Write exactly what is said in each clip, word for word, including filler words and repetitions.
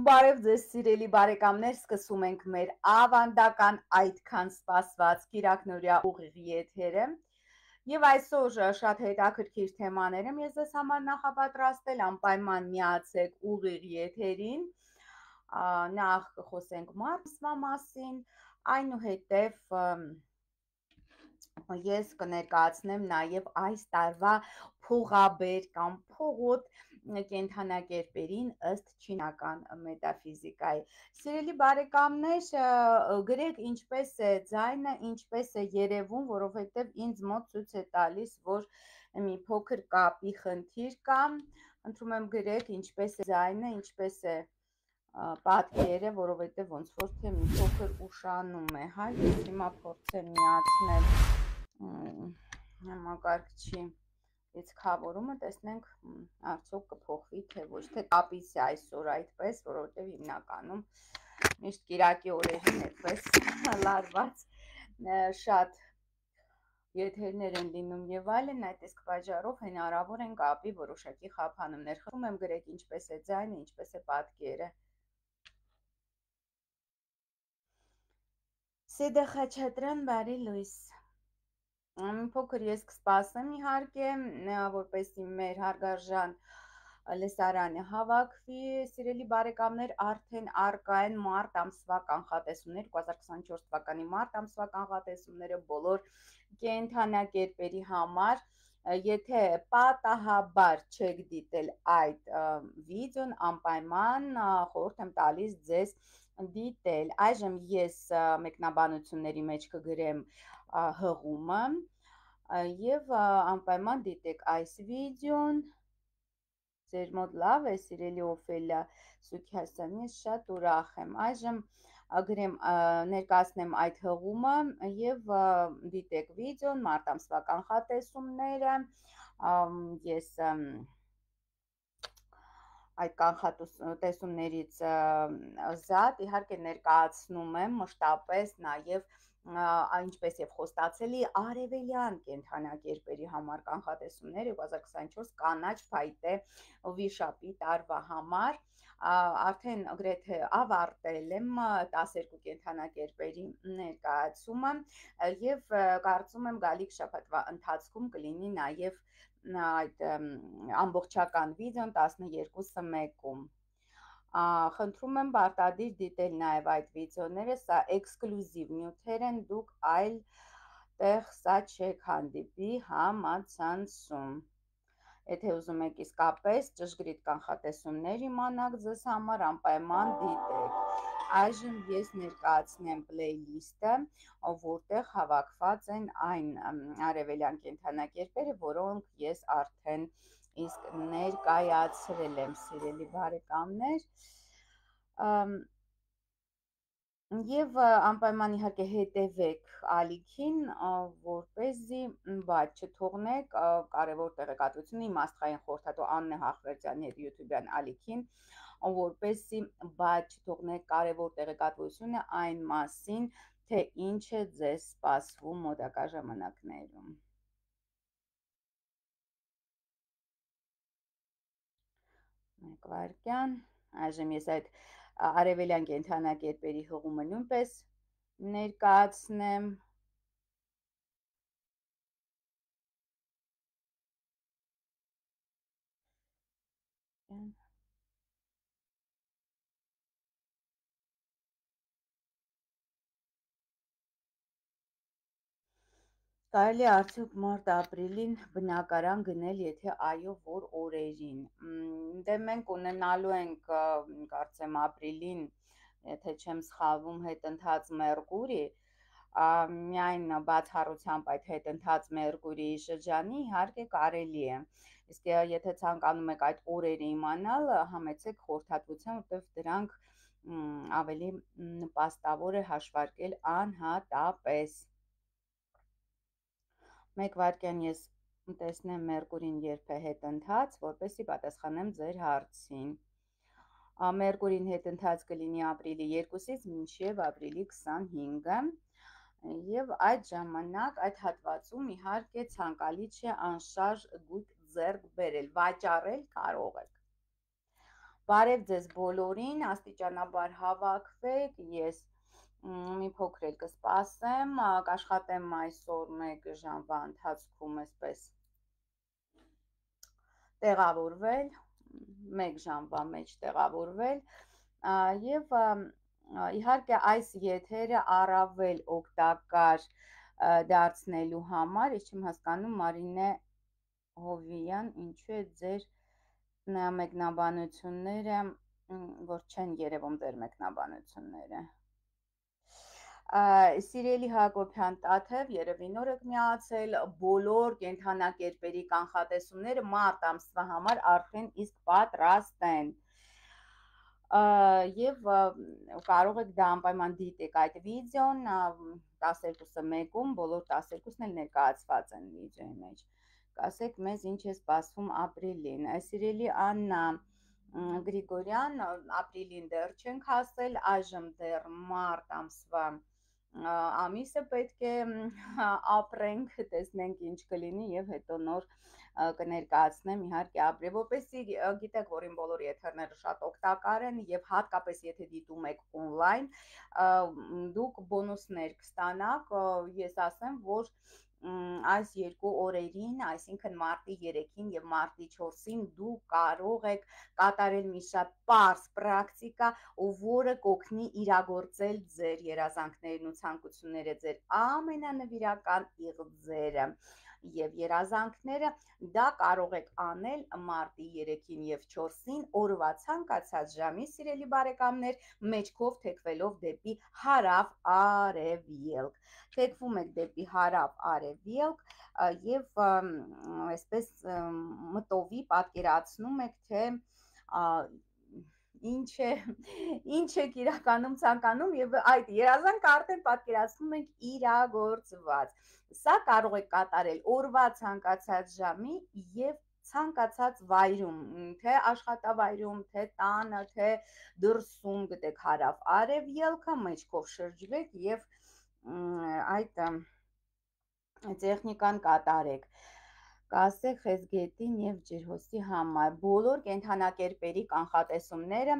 Բարև ձեզ սիրելի բարեկամներ, սկսում ենք մեր ավանդական այդքան սպասված կիրակնօրյա ուղիղ եթերը եւ այսօր շատ հետաքրքիր թեմաներ եմ ես ձեզ համար նախապատրաստել, անպայման միացեք ուղիղ եթերին, նախ կխոսենք մարզվա մասին, այնուհետև ես կներկայացնեմ նաև այս տարվա փողաբեր կամ փողոտ կենդանակերպերին ըստ չինական մետաֆիզիկայի։ Սիրելի բարեկամներ, գրեք ինչպես է ձայնը, ինչպես է երևում, որովհետև ինձ մոտ ցույց է տալիս, որ մի փոքր կապի խնդիր կա։ Խնդրում եմ գրեք ինչպես է ձայնը, ինչպես է պատկերը, որովհետև ոնց որ թե մի փոքր ուշանում է, հա, ես հիմա փորձեմ միացնել համակարգչի լիցքավորումը, տեսնենք արդյոք կփոխվի թե ոչ, թե կապից է այսօր այդպես, որովհետև հիմնականում միշտ կիրակի օրերին այդպես լարված շատ եթերներ են լինում եւ այլն, այդ իսկ պատճառով հնարավոր են կապի որոշակի խափանումներ։ Խնդրում եմ գրեք ինչպես է ձայնը, ինչպես է պատկերը։ Սեդա Խաչատրյան, բարի լույս։ Մի փոքր ես կսպասեմ իհարկե, որպեսզի մեր հարգարժան լսարանը հավաքվի, սիրելի բարեկամներ, արդեն առկա են մարտ ամսվա կանխատեսումներ, երկու հազար քսաներորդ թվականի մարտ ամսվա կանխատեսումները բոլոր կենդանակերպերի համար։ Եթե պատահաբար չեք դիտել այդ վիդեոն, անպայման խորհուրդ եմ տալիս ձեզ դիտել։ Այժմ ես մեկնաբանությունների մեջ կգրեմ հղումը եւ անպայման դիտեք այս վիդեոն։ Ձեր մոտ լավ է, սիրելի Օֆելիա Սուքիասյան, ես շատ ուրախ եմ։ Այժմ գրեմ ներկայացնեմ այդ հղումը եւ դիտեք վիդեոն, մարտ ամսվա կանխատեսումները։ Ես այդ կանխատեսումներից զատ իհարկե ներկայացնում եմ մշտապես նաև ինչպես եւ խոստացելի արևելյան կենդանակերպերի համար կանխատեսումներ երկու հազար քսաներորդ կանաչ փայտե վիշապի տարվա համար, արդեն գրեթե ավարտել եմ տասներկու կենդանակերպերի ներկայացումը եւ կարծում եմ գալիք շաբաթվա ընթացքում կլինի նաև այդ ամբողջական վիդեոն տասներկուսը մեկում։ Խնդրում եմ պարտադիր դիտել նաև այդ վիդեոները, սա էքսկլյուզիվ նյութեր են, դուք այլ տեղ սա չեք հանդիպի համացանցում։ Եթե ուզում եք իսկապես ճշգրիտ կանխատեսումներ իմանաք ձեզ համար, անպայման դիտեք։ Այժմ ես ներկայացնեմ պլեյլիստը, որտեղ հավաքված են այն արևելյան կենդանակերպերը, որոնք ես արդեն իսկ ներկայացրել եմ, սիրելի բարեկամներ, եւ անպայման իհարկե հետևեք ալիքին, որպեսզի բաց չթողնեք կարևոր տեղեկատվությունը իմաստղային խորհրդատու Աննե Հախվերդյանի հետ YouTube-յան ալիքին, որպեսզի բաց չթողնեք կարևոր տեղեկատվությունը այն մասին, թե ինչ է ձեզ սպասվում մոտակա ժամանակներում։ Մեկ վայրկյան, այժմ ես այդ արևելյան կենդանակերպերի հղումը նույնպես ներկայացնեմ։ Կարելի է արդյոք մարտ-ապրիլին բնակարան գնել, եթե այո, որ օրերին։ Դե մենք ունենալու ենք, կարծեմ ապրիլին, եթե չեմ սխալվում, հետընթաց Մերկուրի, միայն բացառությամբ այդ հետընթաց Մերկուրիի շրջանի իհարկե կարելի է։ Իսկ եթե ցանկանում եք այդ օրերը իմանալ, համեցեք խորհրդատվության, որտեղ դրանք ավելի նպաստավոր է հաշվարկել անհատապես։ Մեկ վայրկյան ես տեսնեմ Մերկուրին երբ է հետընթաց, որպեսզի պատասխանեմ ձեր հարցին։ Մերկուրին հետընթաց կլինի ապրիլի երկուսից մինչև ապրիլի քսանհինգը եւ այդ ժամանակ այդ հատվածում իհարկե ցանկալի չէ անշարժ գույք ձեռք բերել, վաճառել կարող եք։ Բարև ձեզ բոլորին, աստիճանաբար հավաքվեք, ես մի փոքր էլ կսպասեմ, կաշխատեմ այսօր մեկ ժամվա ընթացքում այսպես տեղավորվել, մեկ ժամվա մեջ տեղավորվել եւ իհարկե այս եթերը առավել օգտակար դարձնելու համար, ես չեմ հասկանում Մարինե Հովիյան, ինչու է ձեր մեկնաբանությունները, որ չեն երևում ձեր մեկնաբանությունները։ Սիրելի Հակոբյան Տաթև, երևի նոր եք միացել, բոլոր կենդանակերպերի կանխատեսումները մարտ ամսվա համար արդեն իսկ պատրաստ են։ Եվ կարող եք դա անպայման դիտեք այդ վիդեոն, տասներկուսը մեկում, բոլոր տասներկուսն էլ ներկայացված են վիդեոյի մեջ։ Կասեք մեզ ինչ է սպասվում ապրիլին։ Սիրելի Աննա Գրիգորյան, ապրիլին դեռ չենք հասել, այժմ դեռ մարտ ամսվա ամիսը պետք է ապրենք, տեսնենք ինչ կլինի եւ հետո նոր կներկայացնեմ իհարկե ապրիլ, որպեսզի գիտեք, որ իմ բոլոր եթերները շատ օգտակար են եւ հատկապես եթե դիտում եք օնլայն, դուք բոնուսներ կստանաք, ես ասեմ, որ այս երկու օրերին, այսինքն մարտի երեքին եւ մարտի չորսին դուք կարող եք կատարել մի շատ պարզ պրակտիկա, որը կօգնի իրագործել ձեր երազանքներն ու ցանկությունները, ձեր ամենանվիրական իղձերը եւ երազանքները, դա կարող եք անել մարտի երեքին եւ չորսին օրվա ցանկացած ժամի, սիրելի բարեկամներ, մեջքով թեքվելով դեպի հարավ արևելք։ Թեքվում եք դեպի հարավ արևելք եւ այսպես մտովի պատկերացնում եք, թե ինչ է ինչ եք իրականում ցանկանում եւ այդ երազանքը արդեն պատկերացնում եք իրագործված։ Սա կարող եք կատարել օրվա ցանկացած ժամի եւ ցանկացած վայրում, թե աշխատավայրում, թե տանը, թե դրսում, գտեք հարավ արևելքը, մեջքով շրջվեք եւ այդ տեխնիկան կատարեք։ Կասեք Խեզգետին եւ Ջրհոսի համար բոլոր կենդանակերպերի կանխատեսումները,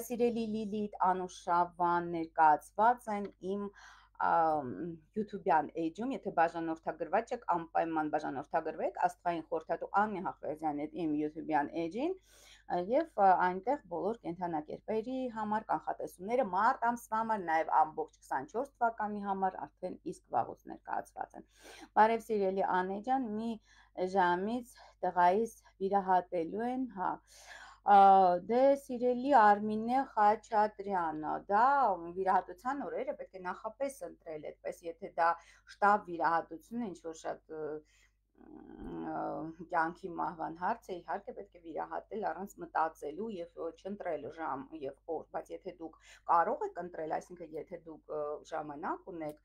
սիրելի Լիլիթ, Անուշավան ներկայացված են իմ YouTube-յան էջում, եթե բաժանորդագրված եք, անպայման բաժանորդագրվեք Աստղային խորհրդատու Աննի Հախվերդյանի իմ YouTube-յան էջին եւ այնտեղ բոլոր կենդանակերպերի համար կանխատեսումները մարտ ամսվա համար, նաեւ ամբողջ քսանչորս թվականի համար արդեն իսկ վաղուց ներկայացված են։ Բարև սիրելի Անե ջան, մի ժամից տղայիս վիրահատելու են, հա։ Դե սիրելի Արմինե Խաչատրյանը, դա վիրահատության օրերը պետք է նախապես ընտրել, այդպես եթե դա շտապ վիրահատություն է, ինչ որ շատ կյանքի մահվան հարց է, իհարկե պետք է վիրահատել առանց մտածելու եւ չընտրել ժամ եւ օր, բայց եթե դուք կարող եք ընտրել, այսինքն եթե դուք ժամանակ ունեք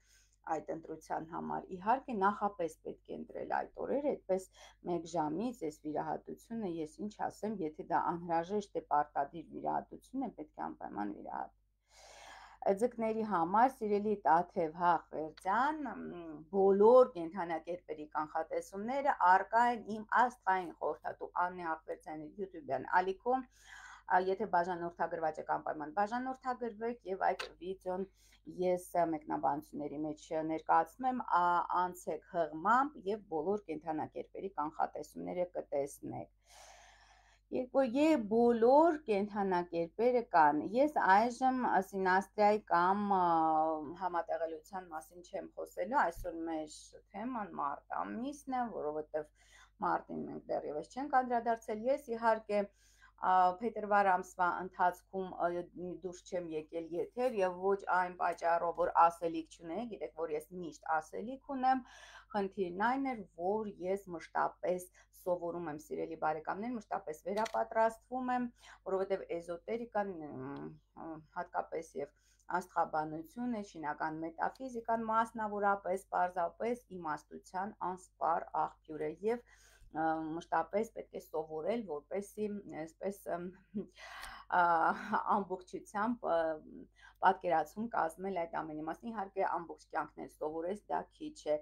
այդ ընտրության համար, իհարկե նախապես պետք է ընտրել այդ օրերը, այդպես մեկ ժամից այս վիրահատությունը, ես ինչ ասեմ, եթե դա անհրաժեշտ է պարտադիր վիրահատություն է, պետք է անպայման վիրահատել։ Ձկների համար, սիրելի Տաթև Հախվերդյան, բոլոր կենդանակերպերի կանխատեսումները առկա են իմ Աստղային խորհրդատու Աննի Հախվերդյանի YouTube-յան ալիքում, եթե բաժանորդագրված եք անպայման բաժանորդագրվեք եւ այդ վիդեոն ես մեկնաբանությունների մեջ ներկայացնում եմ, անցեք հղմամբ եւ բոլոր կենդանակերպերի կանխատեսումները կտեսնեք։ Եվ բոլոր կենդանակերպերը կան։ Ես այժմ սինաստրիայի կամ համատեղելիության մասին չեմ խոսելու, այսօր մեր թեման մարտ ամիսն է, որովհետև մարտին մենք դեռևս չենք անդրադարձել։ Ես իհարկե փետրվար ամսվա ընթացքում դուրս չեմ եկել եթեր եւ ոչ այն պատճառով, որ ասելիք չունեի, գիտեք, որ ես միշտ ասելիք ունեմ, խնդիրն այն էր, որ ես մշտապես սովորում եմ, սիրելի բարեկամներ, մշտապես վերապատրաստվում եմ, որովհետեւ էզոտերիկան, հատկապես եւ աստղաբանությունը, չինական մետաֆիզիկան մասնավորապես, պարզապես իմաստության անսպառ աղբյուր է եւ մշտապես պետք է սովորել, որպեսզի այսպես ամբողջությամբ պատկերացում կազմել այդ ամենի մասին, իհարկե ամբողջ կյանքն սովորես, դա քիչ է,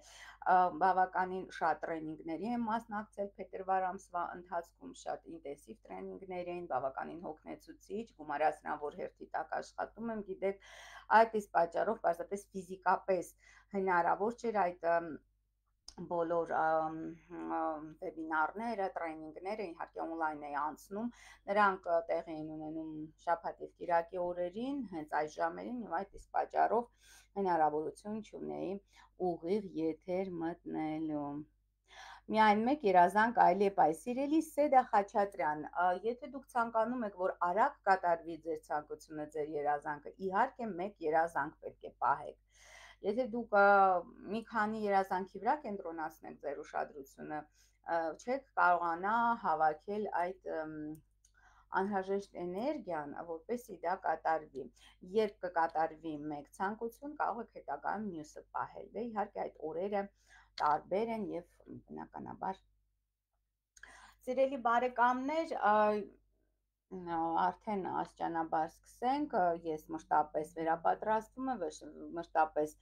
բավականին շատ տրեյնինգների եմ մասնակցել փետրվար ամսվա ընթացքում, շատ ինտենսիվ տրեյնինգներ էին, բավականին հոգնեցուցիչ, գումարած նրան, որ հերթի տակ աշխատում եմ, գիտեք, այդ իսկ պատճառով պարզապես ֆիզիկապես հնարավոր չէր այդ բոլոր վեբինարները, տրեյնինգները, իհարկե օնլայն էի անցնում, նրանք տեղի են ունենում շաբաթ և կիրակի օրերին, հենց այս ժամերին, եւ այդ իսկ պատճառով հնարավորություն չունեի ուղիղ եթեր մտնելու։ Միայն մեկ երազանք այլ է պայ, սիրելի Սեդա Խաչատրյան, եթե դուք ցանկանում եք, որ արագ կատարվի ձեր ցանկությունը, ձեր երազանքը, իհարկե մեկ երազանք պետք է պահեք։ Եթե դուք մի քանի երազանքի վրա կենտրոնացնեք ձեր ուշադրությունը, չեք կարողանա հավաքել այդ անհրաժեշտ էներգիան, որպեսզի դա կատարվի։ Երբ կկատարվի մեկ ցանկություն, կարող եք հետագայում մյուսը պահել։ Դե իհարկե այդ օրերը տարբեր են եւ բնականաբար։ Սիրելի բարեկամներ, արդեն աստիճանաբար սկսենք, ես մշտապես վերապատրաստվում եմ, մշտապես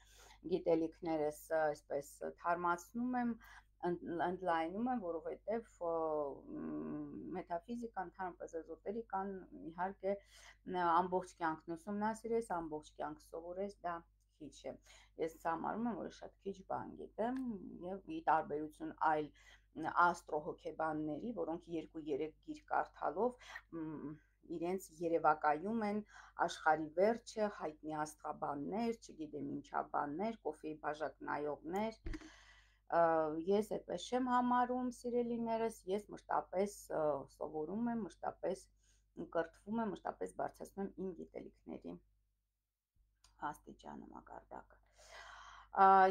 գիտելիքներս այսպես թարմացնում եմ, ընդլայնում եմ, որովհետև մեթաֆիզիկան, ընդհանրապես էզոտերիկան, իհարկե ամբողջ կյանքն ուսումնասիրես, ամբողջ կյանք սովորես, դա քիչ է։ Ես համարում եմ, որ շատ քիչ բան գիտեմ եւ ի տարբերություն այլ աստրոհոգեբանների, որոնք երկու-երեք գիր կարդալով իրենց երևակայում են աշխարհի վերջը, հայտնի աստղաբաններ, չգիտեմ ինչա բաններ, կոֆեի բաժակ նայողներ, ես այդպես չեմ համարում, սիրելիներս, ես մշտապես սովորում եմ, մշտապես կրթվում եմ, մշտապես բարձրացնում եմ իմ գիտելիքների աստիճանը, մակարդակը։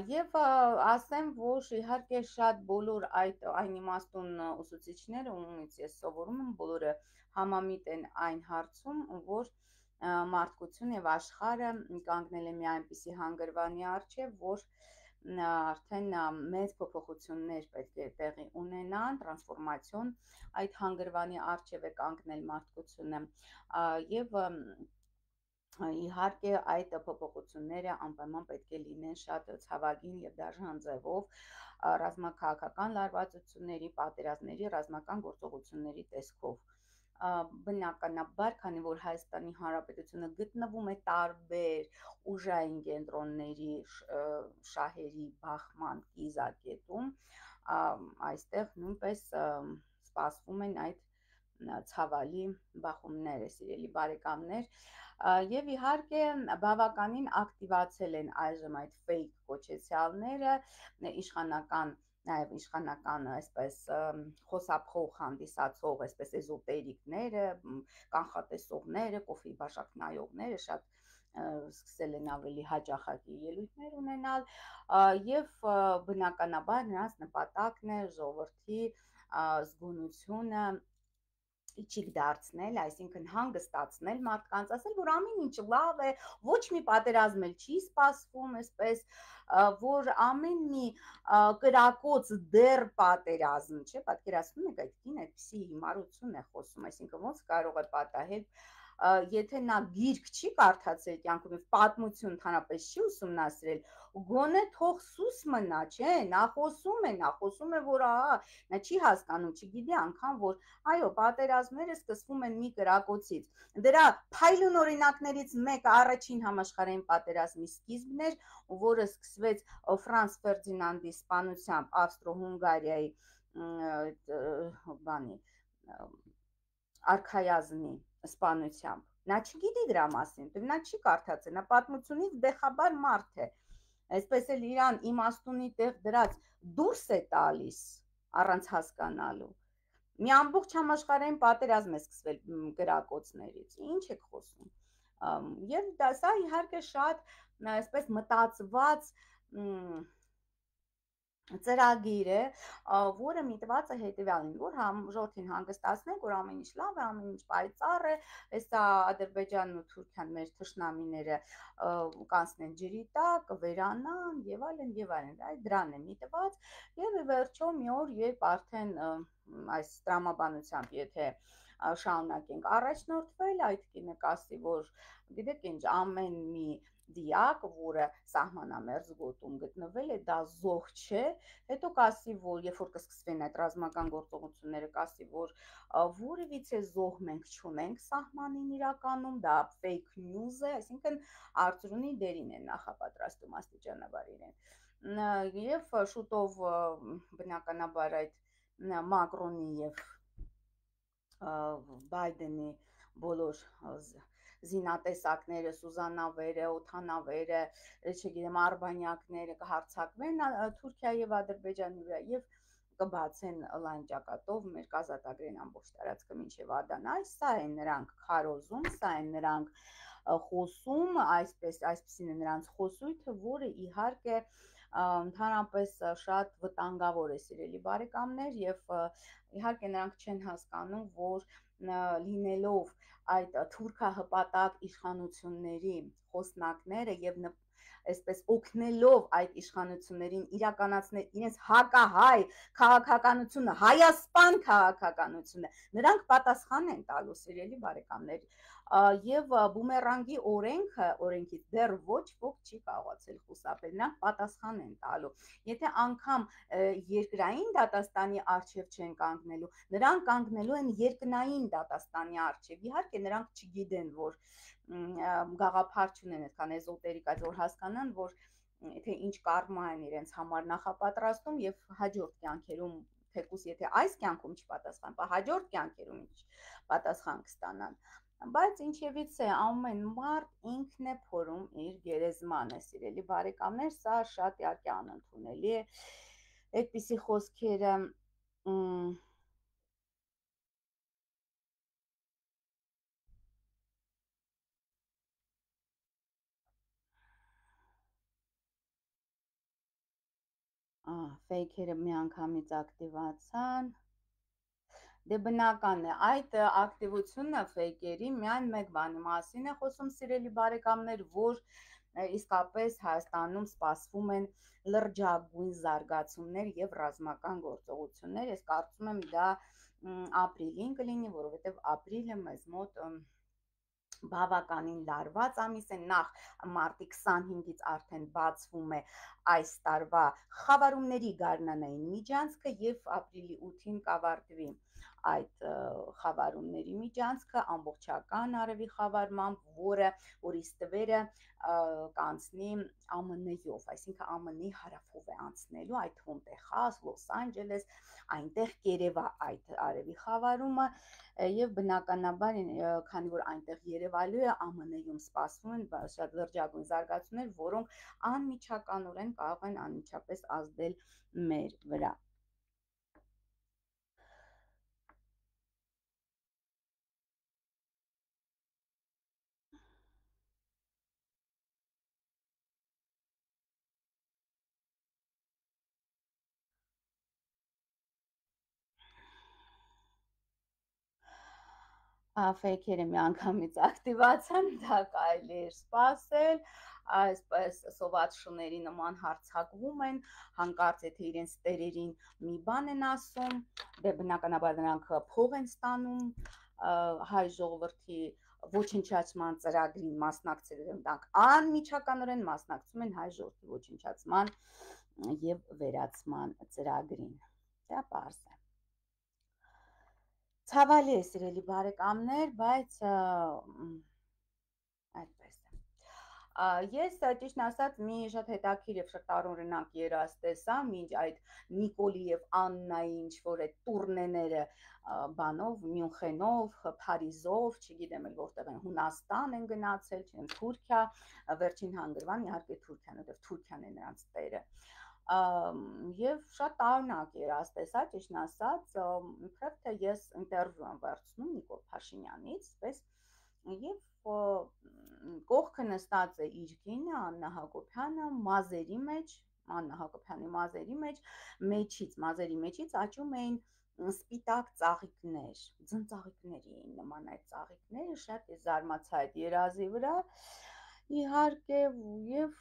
Եվ ասեմ, որ իհարկե շատ բոլոր այդ այն իմաստուն ուսուցիչները, ումից ես սովորում եմ, բոլորը համամիտ են այն հարցում, որ մարդկություն եւ աշխարհը կանգնել է մի այնպիսի հանգրվանի առջև, որ արդեն մեծ փոփոխություններ պետք է տեղի ունենան, տրանսֆորմացիոն այդ հանգրվանի առջև է կանգնել մարդկությունը եւ իհարկե այդ փոփոխությունները անպայման պետք է լինեն շատ ցավագին եւ դաժան ձևով, ռազմաքաղաքական լարվածությունների, պատերազմների, ռազմական գործողությունների տեսքով։ Բնականաբար, քանի որ Հայաստանի Հանրապետությունը գտնվում է տարբեր ուժային կենտրոնների շահերի բախման կիզակետում, այստեղ նույնպես սպասվում են այդ ցավալի բախումները, սիրելի բարեկամներ, եւ իհարկե բավականին ակտիվացել են այժմ այդ fake կոչեցյալները, իշխանական, նաեւ իշխանական այսպես խոսափող հանդիսացող այսպես էզոտերիկները, կանխատեսողները, կոֆեի բաժակ նայողները շատ սկսել են ավելի հաճախակի ելույթներ ունենալ եւ բնականաբար նրանց նպատակն է ժողովրդի զգոնությունը իջիկ դարձնել, այսինքն հանգստացնել մարդկանց, ասել, որ ամեն ինչ լավ է, ոչ մի պատերազմ էլ չի սպասվում, այսպես, որ ամեն մի կրակոց դեռ պատերազմ չէ, պատկերացնում եք, այդ կին այդպիսի հիմարություն է խոսում, այսինքն ոնց կարող է պատահել, եթե նա գիրք չի կարդացել կյանքում եւ պատմություն ընդհանրապես չի ուսումնասիրել, գոնե թող սուս մնա, չէ, նա խոսում է, նա խոսում է, որ ահա, նա չի հասկանում, չգիտի անգամ, որ այո, պատերազմները սկսվում են մի կրակոցից։ Դրա փայլուն օրինակներից մեկը առաջին համաշխարհային պատերազմի սկիզբն էր, որը սկսվեց Ֆրանց Ֆերդինանդի սպանությամբ Ավստրո-Հունգարիայի բանի արքայազնի սպանությամբ։ Նա չգիտի դրա մասին, նա չի կարդացել, նա պատմությունից բեխաբար մարդ է, այսպես էլ իրան իմաստունի տեղ դրած դուրս է տալիս առանց հասկանալու։ Մի ամբողջ համաշխարհային պատերազմ է սկսվել կրակոցներից, ինչ եք խոսում։ Եվ դա սա իհարկե շատ այսպես մտածված ծրագիր է, որը միտված է հետևյալին, որ ժողովրդին հանգստացնենք, որ ամեն ինչ լավ է, ամեն ինչ պայծառ է, հեսա Ադրբեջանն ու Թուրքիան մեր թշնամիները կանցնեն ջրի տակ, վերանան եւ այլն եւ այլն, այդ դրան է միտված եւ վերջո մի օր երբ արդեն այս տրամաբանությամբ եթե շարունակենք առաջնորդվել, այդ կինը կասի, որ գիտեք ինչ, ամեն մի դիակ, որը սահմանամերձ գոտում գտնվել է, դա զոհ չէ, հետո կասի, որ երբ որ կսկսվեն այդ ռազմական գործողությունները, կասի, որ որևիցե զոհ մենք չունենք սահմանին իրականում, դա fake news է, այսինքն Արծրունի դերին են նախապատրաստում աստիճանաբար իրեն։ Եվ շուտով բնականաբար այդ Մակրոնի եւ Բայդենի բոլոր զինատեսակները, սուզանավերը, օդանավերը, չգիտեմ, արբանյակները կհարձակվեն Թուրքիայի եւ Ադրբեջանի վրա եւ կբացեն լայն ճակատով մեր կազատագրեն ամբողջ տարածքը մինչև Ադանա, սա են նրանք քարոզում, սա են նրանք խոսում, այսպես այսպեսին է նրանց խոսույթը, որը իհարկե ընդհանրապես շատ վտանգավոր է, սիրելի բարեկամներ, եւ իհարկե նրանք չեն հասկանում, որ լինելով այդ թուրքահպատակ իշխանությունների խոսնակները եւ այսպես օգնելով այդ իշխանություններին իրականացնել իրենց հակահայ քաղաքականությունը, հայասպան քաղաքականությունը, նրանք պատասխան են տալու, սիրելի բարեկամներ, եւ բումերանգի օրենքը, օրենքից դեռ ոչ ոք չի կարողացել խուսափել, նրանք պատասխան են տալու։ Եթե անգամ երկրային դատաստանի առջև չեն կանգնելու, նրանք կանգնելու են երկնային դատաստանի առջև։ Իհարկե նրանք չգիտեն, որ գաղափար չունեն այդքան էզոտերիկ, այդ որ հասկանան, որ թե ինչ կարմա են իրենց համար նախապատրաստում եւ հաջորդ կյանքերում, թեկուզ եթե այս կյանքում չպատասխան, ապա հաջորդ կյանքերում ինչ պատասխան կստանան։ Բայց ինչևից է, ամեն մարդ ինքն է փորում իր գերեզմանը, սիրելի բարեկամներ, սա շատ իհարկե անընդունելի է։ Այդպիսի խոսքերը ֆեյքերը միանգամից ակտիվացան։ Դե բնական է, այդ ակտիվությունը ֆեյքերի միայն մեկ բանի մասին է խոսում, սիրելի բարեկամներ, որ իսկապես Հայաստանում սպասվում են լրջագույն զարգացումներ եւ ռազմական գործողություններ։ Ես կարծում եմ դա ապրիլին կլինի, որովհետեւ ապրիլը մեզ մոտ բավականին լարված ամիս է, նախ մարտի քսանհինգից արդեն բացվում է այս տարվա խավարումների գարնանային միջանցքը եւ ապրիլի ութին կավարտվի այդ խավարումների միջանցքը ամբողջական արևի խավարմամբ, որը որի ստվերը կանցնի ԱՄՆ-ով, այսինքն ԱՄՆ-ի հարավով է անցնելու, այդ թվում Տեխաս, Լոս Անջելես, այնտեղ կերևա այդ արևի խավարումը եւ բնականաբար, քանի որ այնտեղ երևալու է, ԱՄՆ-ում սպասվում են շատ լրջագույն զարգացումներ, որոնք անմիջականորեն կարող են անմիջապես ազդել մեր վրա։ Ֆեյքերը միանգամից ակտիվացան, դա կարելի էր սպասել, այսպես սոված շների նման հարձակվում են, հանկարծ եթե իրենց տերերին մի բան են ասում, դե բնականաբար նրանք փող են ստանում, հայ ժողովրդի ոչնչացման ծրագրին մասնակցել են, դրանք անմիջականորեն մասնակցում են հայ ժողովրդի ոչնչացման եւ վերացման ծրագրին։ Դա պարզ է։ Ցավալի է, սիրելի բարեկամներ, բայց այդպես է։ Ես ճիշտն ասած մի շատ հետաքրքիր եւ շատ տարօրինակ երազ տեսա, մինչ այդ Նիկոլի եւ Աննայի ինչ որ այդ տուրնեները բանով, Մյունխենով, Փարիզով, չգիտեմ էլ որտեղ են, Հունաստան են գնացել, չեմ Թուրքիա, վերջին հանգրվան իհարկե Թուրքիան, որտեղ Թուրքիան է նրանց տերը։ Եվ շատ տարօրինակ երազ տեսա, ճիշտն ասած, իբրև թե ես ինտերվյու եմ վերցնում Նիկոլ Փաշինյանից, պես եւ կողքը նստած է իր կինը Աննա Հակոբյանը մազերի մեջ, Աննա Հակոբյանի մազերի մեջ, մեջից, մազերի մեջից աճում էին սպիտակ ծաղիկներ, ձնծաղիկների էին նման այդ ծաղիկները, շատ զարմացա այդ երազի վրա, իհարկե, եւ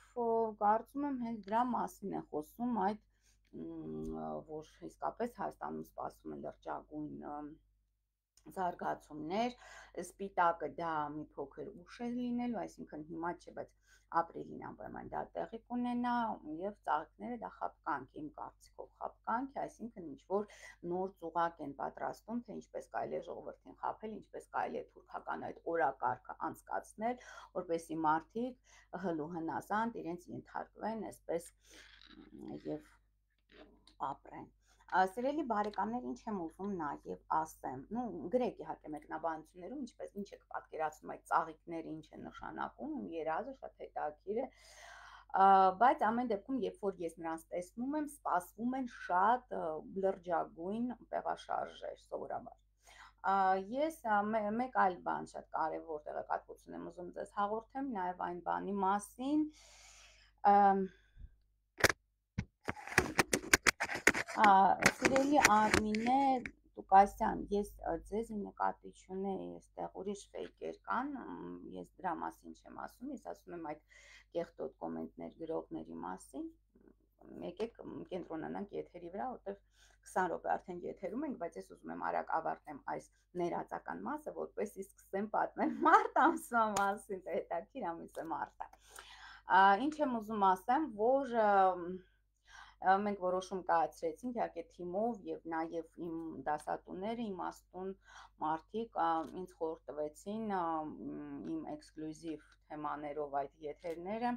կարծում եմ հենց դրա մասին է խոսում այդ, որ իսկապես Հայաստանում սպասում է լրջագույն զարգացումներ, սպիտակը դա մի փոքր ուշ է լինելու, այսինքն հիմա չէ, բայց ապրիլին անպայման դա տեղի կունենա, եւ ծաղիկները դա խապկանք, իմ կարծիքով խապկանք է, այսինքն ինչ որ նոր ծուղակ են պատրաստում, թե ինչպես կարելի է ժողովրդին խաբել, ինչպես կարելի է թուրքական այդ օրակարգը անցկացնել, որպեսզի մարդիկ հլու հնազանդ իրենց ենթարկվեն, այսպես եւ ապրեն։ Սիրելի բարեկամներ, ինչ եմ ուզում նաև ասեմ, ну գրեք իհարկե մեկնաբանություններում, ինչպես ինչ եք պատկերացնում այդ ծաղիկները ինչ է նշանակում, իմ երազը շատ հետաքրքիր է, բայց ամեն դեպքում, երբ որ ես նրանց տեսնում եմ, սպասվում են շատ լրջագույն տեղաշարժեր սովորաբար։ Ես մեկ այլ բան շատ կարևոր տեղեկատվություն եմ ուզում ձեզ հաղորդեմ, նաև այն բանի մասին, Սիրելի Արմինե Տուկասյան, ես ձեզ նկատի չունեի, այստեղ ուրիշ ֆեյքեր կան, ես դրա մասին չեմ ասում, ես ասում եմ այդ կեղտոտ կոմենտներ գրողների մասին, եկեք կենտրոնանանք եթերի վրա, որտեղ քսան րոպե արդեն եթերում ենք, բայց ես ուզում եմ արագ ավարտեմ այս ներածական մասը, որպեսզի սկսեմ պատմել մարտ ամսվա մասին, թե հետաքրքիր ամիս է մարտը։ Ինչ եմ ուզում ասեմ, որ մենք որոշում կայացրեցինք իհարկե թիմով եւ նաեւ իմ դասատուները, իմաստուն մարդիկ ինձ խորհուրդ տվեցին իմ էքսկլյուզիվ թեմաներով այդ եթերները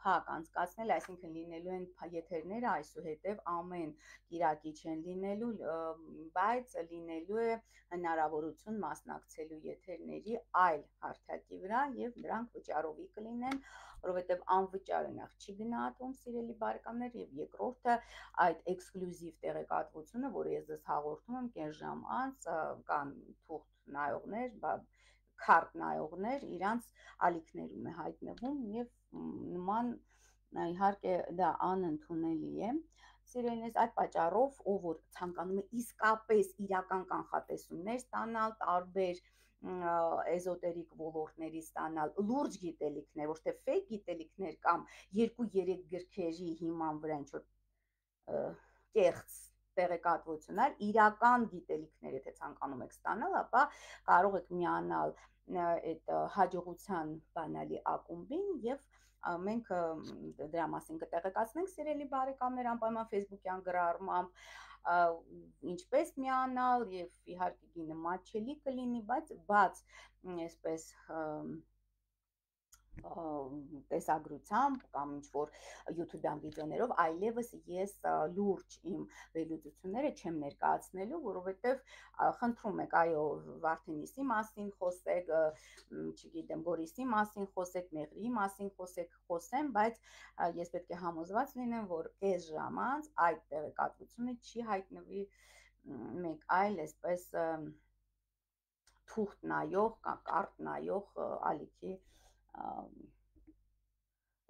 փակ անցկացնել, այսինքն լինելու են եթերները այսուհետև ամեն կիրակի չեն լինելու, բայց լինելու է հնարավորություն մասնակցելու եթերների այլ հարթակի վրա եւ դրանք վճարովի կլինեն, որովհետեւ անվճար նախ չի գնահատվում, սիրելի բարեկամներ, եւ երկրորդը այդ էքսկլյուզիվ տեղեկատվությունը, որը ես ձեզ հաղորդում եմ կես ժամ անց, կան թուղթ նայողներ, քարտ նայողներ, իրանց ալիքներում է հայտնվում եւ նման իհարկե դա անընդունելի է։ Սիրելիներս, այդ պատճառով ով որ ցանկանում է իսկապես իրական կանխատեսումներ ստանալ, տարբեր էզոտերիկ ոլորտների ստանալ, լուրջ գիտելիքներ, ոչ թե ֆեյք գիտելիքներ կամ երկու-երեք գրքերի հիման վրա ինչ որ կեղծ տեղեկատվություններ, իրական գիտելիքներ, եթե ցանկանում եք ստանալ, ապա կարող եք միանալ այդ հաջողության բանալի ակումբին եւ մենք դրա մասին կտեղեկացնենք, սիրելի բարեկամներ, անպայման Facebook-յան գրառմամբ, ինչպես միանալ եւ իհարկե գինը մատչելի կլինի, բայց բաց այսպես տեսագրությամբ կամ ինչ որ YouTube-յան վիդեոներով, այլևս ես լուրջ իմ վերլուծությունները չեմ ներկայացնելու, որովհետև խնդրում եք, այո, Վարդենիսի մասին խոսեք, չգիտեմ, Գորիսի մասին խոսեք, Մեղրիի մասին խոսեք, խոսեմ, բայց ես պետք է համոզված լինեմ, որ կես ժամ անց այդ տեղեկատվությունը չի հայտնվի մեկ այլ այսպես թուղթ նայող կամ կարտ նայող ալիքի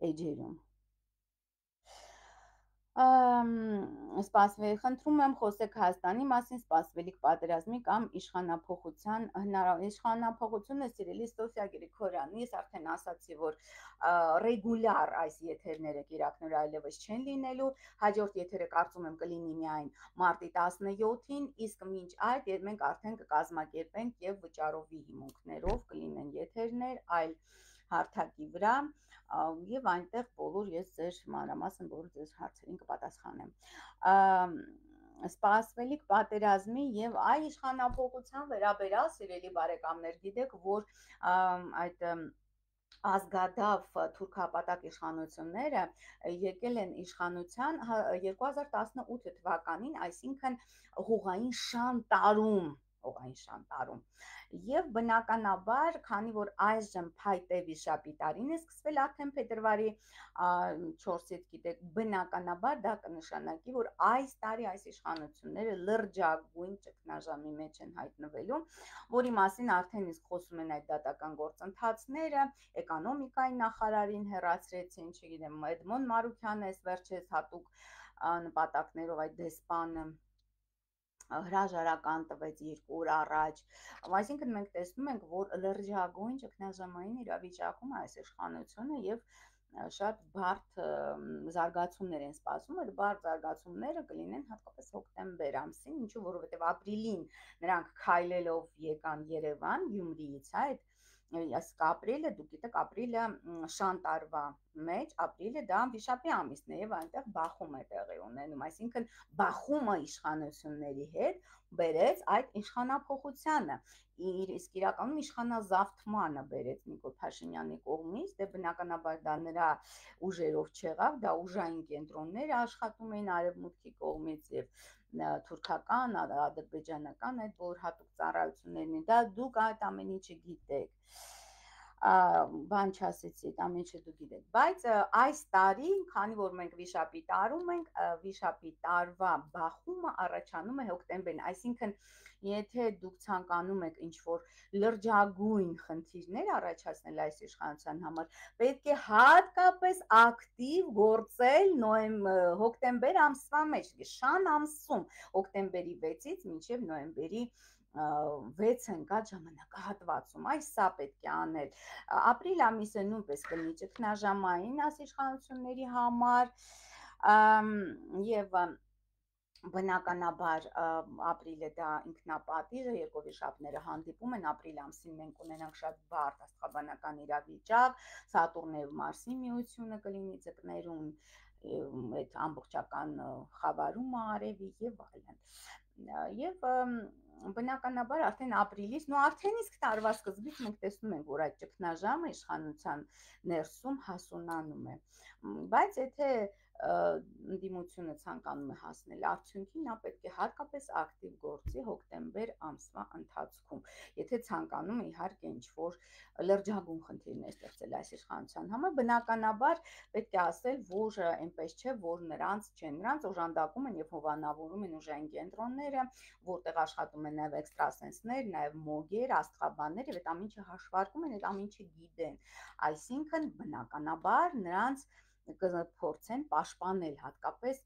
էջերում։ Սպասվելի, խնդրում եմ խոսեք Հայաստանի մասին, սպասվելիք պատերազմի կամ իշխանափոխության իշխանափոխությունը, սիրելի Սոֆիա Գրիգորյան, ես արդեն ասացի, որ ռեգուլյար այս եթերները կիրակներ այլևս չեն լինելու, հաջորդ եթերը կարծում եմ կլինի միայն մարտի տասնյոթին, իսկ մինչ այդ մենք արդեն կկազմակերպենք եւ վճարովի հիմունքներով կլինեն եթերներ այլ հարթակի վրա եւ այնտեղ բոլոր ես ձեր մանրամասն բոլոր ձեր հարցերին կպատասխանեմ։ Սպասվելիք պատերազմի եւ այ իշխանափոխության վերաբերյալ, սիրելի բարեկամներ, գիտեք, որ այդ ազգադավ թուրքապատակ իշխանությունները եկել են իշխանության երկու հազար տասնութ թվականին, այսինքն հողային շան տարում հողային շան տարում եւ բնականաբար, քանի որ այժմ փայտե վիշապի տարին է սկսվել արդեն փետրվարի չորսից, գիտեք, բնականաբար դա կնշանակի, որ այս տարի այս իշխանությունները լրջագույն ճգնաժամի մեջ են հայտնվելու, որի մասին արդեն իսկ խոսում են այդ դատական գործընթացները, էկոնոմիկայի նախարարին հեռացրեցին, չգիտեմ, Էդմոն Մարուքյանը էս վերջերս հատուկ նպատակներով այդ դեսպանը հրաժարական տվեց երկու օր առաջ, այսինքն մենք տեսնում ենք, որ լրջագույն ճգնաժամային իրավիճակում այս իշխանությունը եւ շատ բարդ զարգացումներ են սպասում, այդ բարդ զարգացումները կլինեն հատկապես հոկտեմբեր ամսին, ինչու որովհետև ապրիլին նրանք քայլելով եկան Երևան Գյումրիից, հա, այդ ասիկ ապրիլը, դուք գիտեք, ապրիլը շան տարվա մեջ, ապրիլը դա վիշապի ամիսն է եւ այնտեղ բախում է տեղի ունենում, այսինքն բախումը իշխանությունների հետ բերեց այդ իշխանափոխությանը, իր իսկ իրականում իշխանազավթմանը բերեց Նիկոլ Փաշինյանի կողմից, դե բնականաբար դա նրա ուժերով չեղավ, դա ուժային կենտրոններ աշխատում էին արևմուտքի կողմից եւ թուրքական, ադրբեջանական այդ որ հատուկ ծառայություններն են, դա դուք այդ ամեն ինչը գիտեք, բան չասեցի, այդ ամեն ինչը դուք գիտեք, բայց այս տարի, քանի որ մենք վիշապի տարում ենք, վիշապի տարվա բախումը առաջանում է հոկտեմբերին, այսինքն եթե դուք ցանկանում եք ինչ-որ լրջագույն խնդիրներ առաջացնել այս իշխանության համար, պետք է հատկապես ակտիվ գործել նոյեմբեր, հոկտեմբեր ամսվա մեջ, շան ամսում, հոկտեմբերի վեցից մինչև նոյեմբերի վեց ընկած ժամանակահատվածում, այս սա պետք է անել, ապրիլ ամիսը նույնպես կլինի ճգնաժամային այս իշխանությունների համար եւ բնականաբար ապրիլը դա ինքնապատիժ է, երկու վիշապները հանդիպում են, ապրիլ ամսին մենք ունենանք շատ բարդ աստղաբանական իրավիճակ, Սատուրնի եւ Մարսի միությունը կլինի ձկներում, այդ ամբողջական խավարումը արևի եւ այլն, եւ բնականաբար արդեն ապրիլից, նո արդեն իսկ տարվա սկզբից մենք տեսնում ենք, որ այդ ճգնաժամը իշխանության ներսում հասունանում է, բայց եթե ընդդիմությունը ցանկանում է հասնել արդյունքի, նա պետք է հատկապես ակտիվ գործի հոկտեմբեր ամսվա ընթացքում, եթե ցանկանում է իհարկե ինչ-որ լրջագույն խնդիրներ ստեղծել այս իշխանության համար, բնականաբար պետք է ասել, որ այնպես չէ, որ նրանց չեն, նրանց օժանդակում են եւ հովանավորում են ուժային կենտրոնները, որտեղ աշխատում են նաեւ էքստրասենսներ, նաեւ մոգեր, աստղաբաններ եւ այդ ամենը հաշվարկում են, այդ ամենը գիտեն, այսինքն բնականաբար նրանց կփորձեն պաշտպանել հատկապես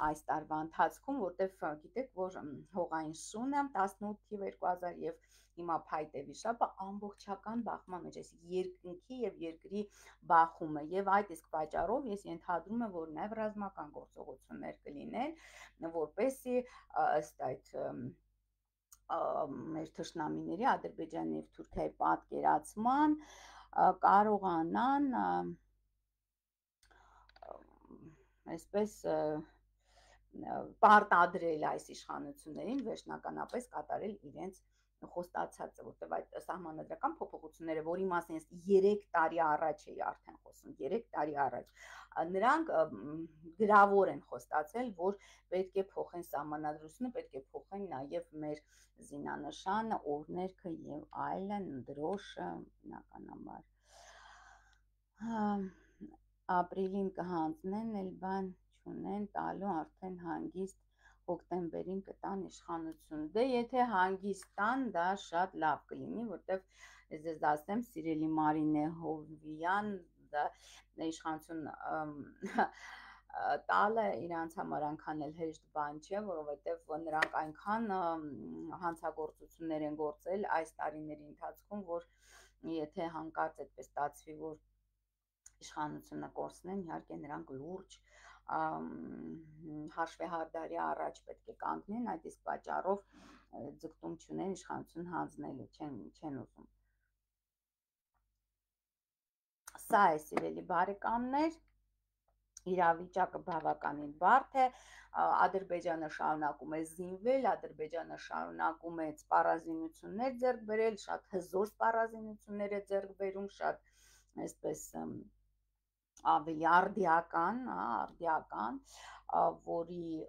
այս տարվա ընթացքում, որտեղ գիտեք, որ հողային շունը տասնութ թիվ երկու հազար եւ հիմա փայտե վիշապը ամբողջական բախման մեջ է, երկնքի եւ երկրի բախումը եւ այդ իսկ պատճառով ես ենթադրում եմ, որ նաեւ ռազմական գործողություններ կլինեն, որպեսզի ըստ այդ մեր թշնամիների Ադրբեջանի եւ Թուրքիայի պատկերացման կարողանան այսպես պարտադրել այս իշխանություններին վերջնականապես կատարել իրենց խոստացածը, որտեղ այդ սահմանադրական փոփոխությունները, որի մասին ես երեք տարի առաջ էի արդեն խոսում, երեք տարի առաջ, նրանք գրավոր են խոստացել, որ պետք է փոխեն սահմանադրությունը, պետք է փոխեն նաև մեր զինանշանը, օրհներգը եւ այլն, դրոշը, բնականաբար ապրիլին կհանձնեն, էլ բան չունեն, տալու արդեն հանգիստ հոկտեմբերին կտան իշխանություն, դե եթե հանգիստ տան, դա շատ լավ կլինի, որտեվ ես ձեզ ասեմ, սիրելի Մարինե Հովվյան, դա իշխանություն տալը իրանց համար այնքան էլ հեշտ բան չէ, որովհետև նրանք այնքան հանցագործություններ են գործել այս տարիների ընթացքում, որ եթե հանկարծ այդպես ստացվի, որ իշխանությունը կորցնեն, իհարկե նրանք լուրջ հաշվեհարդարի առաջ պետք է կանգնեն, այդ իսկ պատճառով ձգտում չունեն իշխանություն հանձնելու, չեն, չեն ուզում։ Սա է, սիրելի բարեկամներ, իրավիճակը բավականին բարդ է, Ադրբեջանը շարունակում է զինվել, Ադրբեջանը շարունակում է սպառազինություններ ձեռք բերել, շատ հզոր սպառազինություններ է ձեռք բերում, շատ այսպես ավելի արդիական, արդիական, որի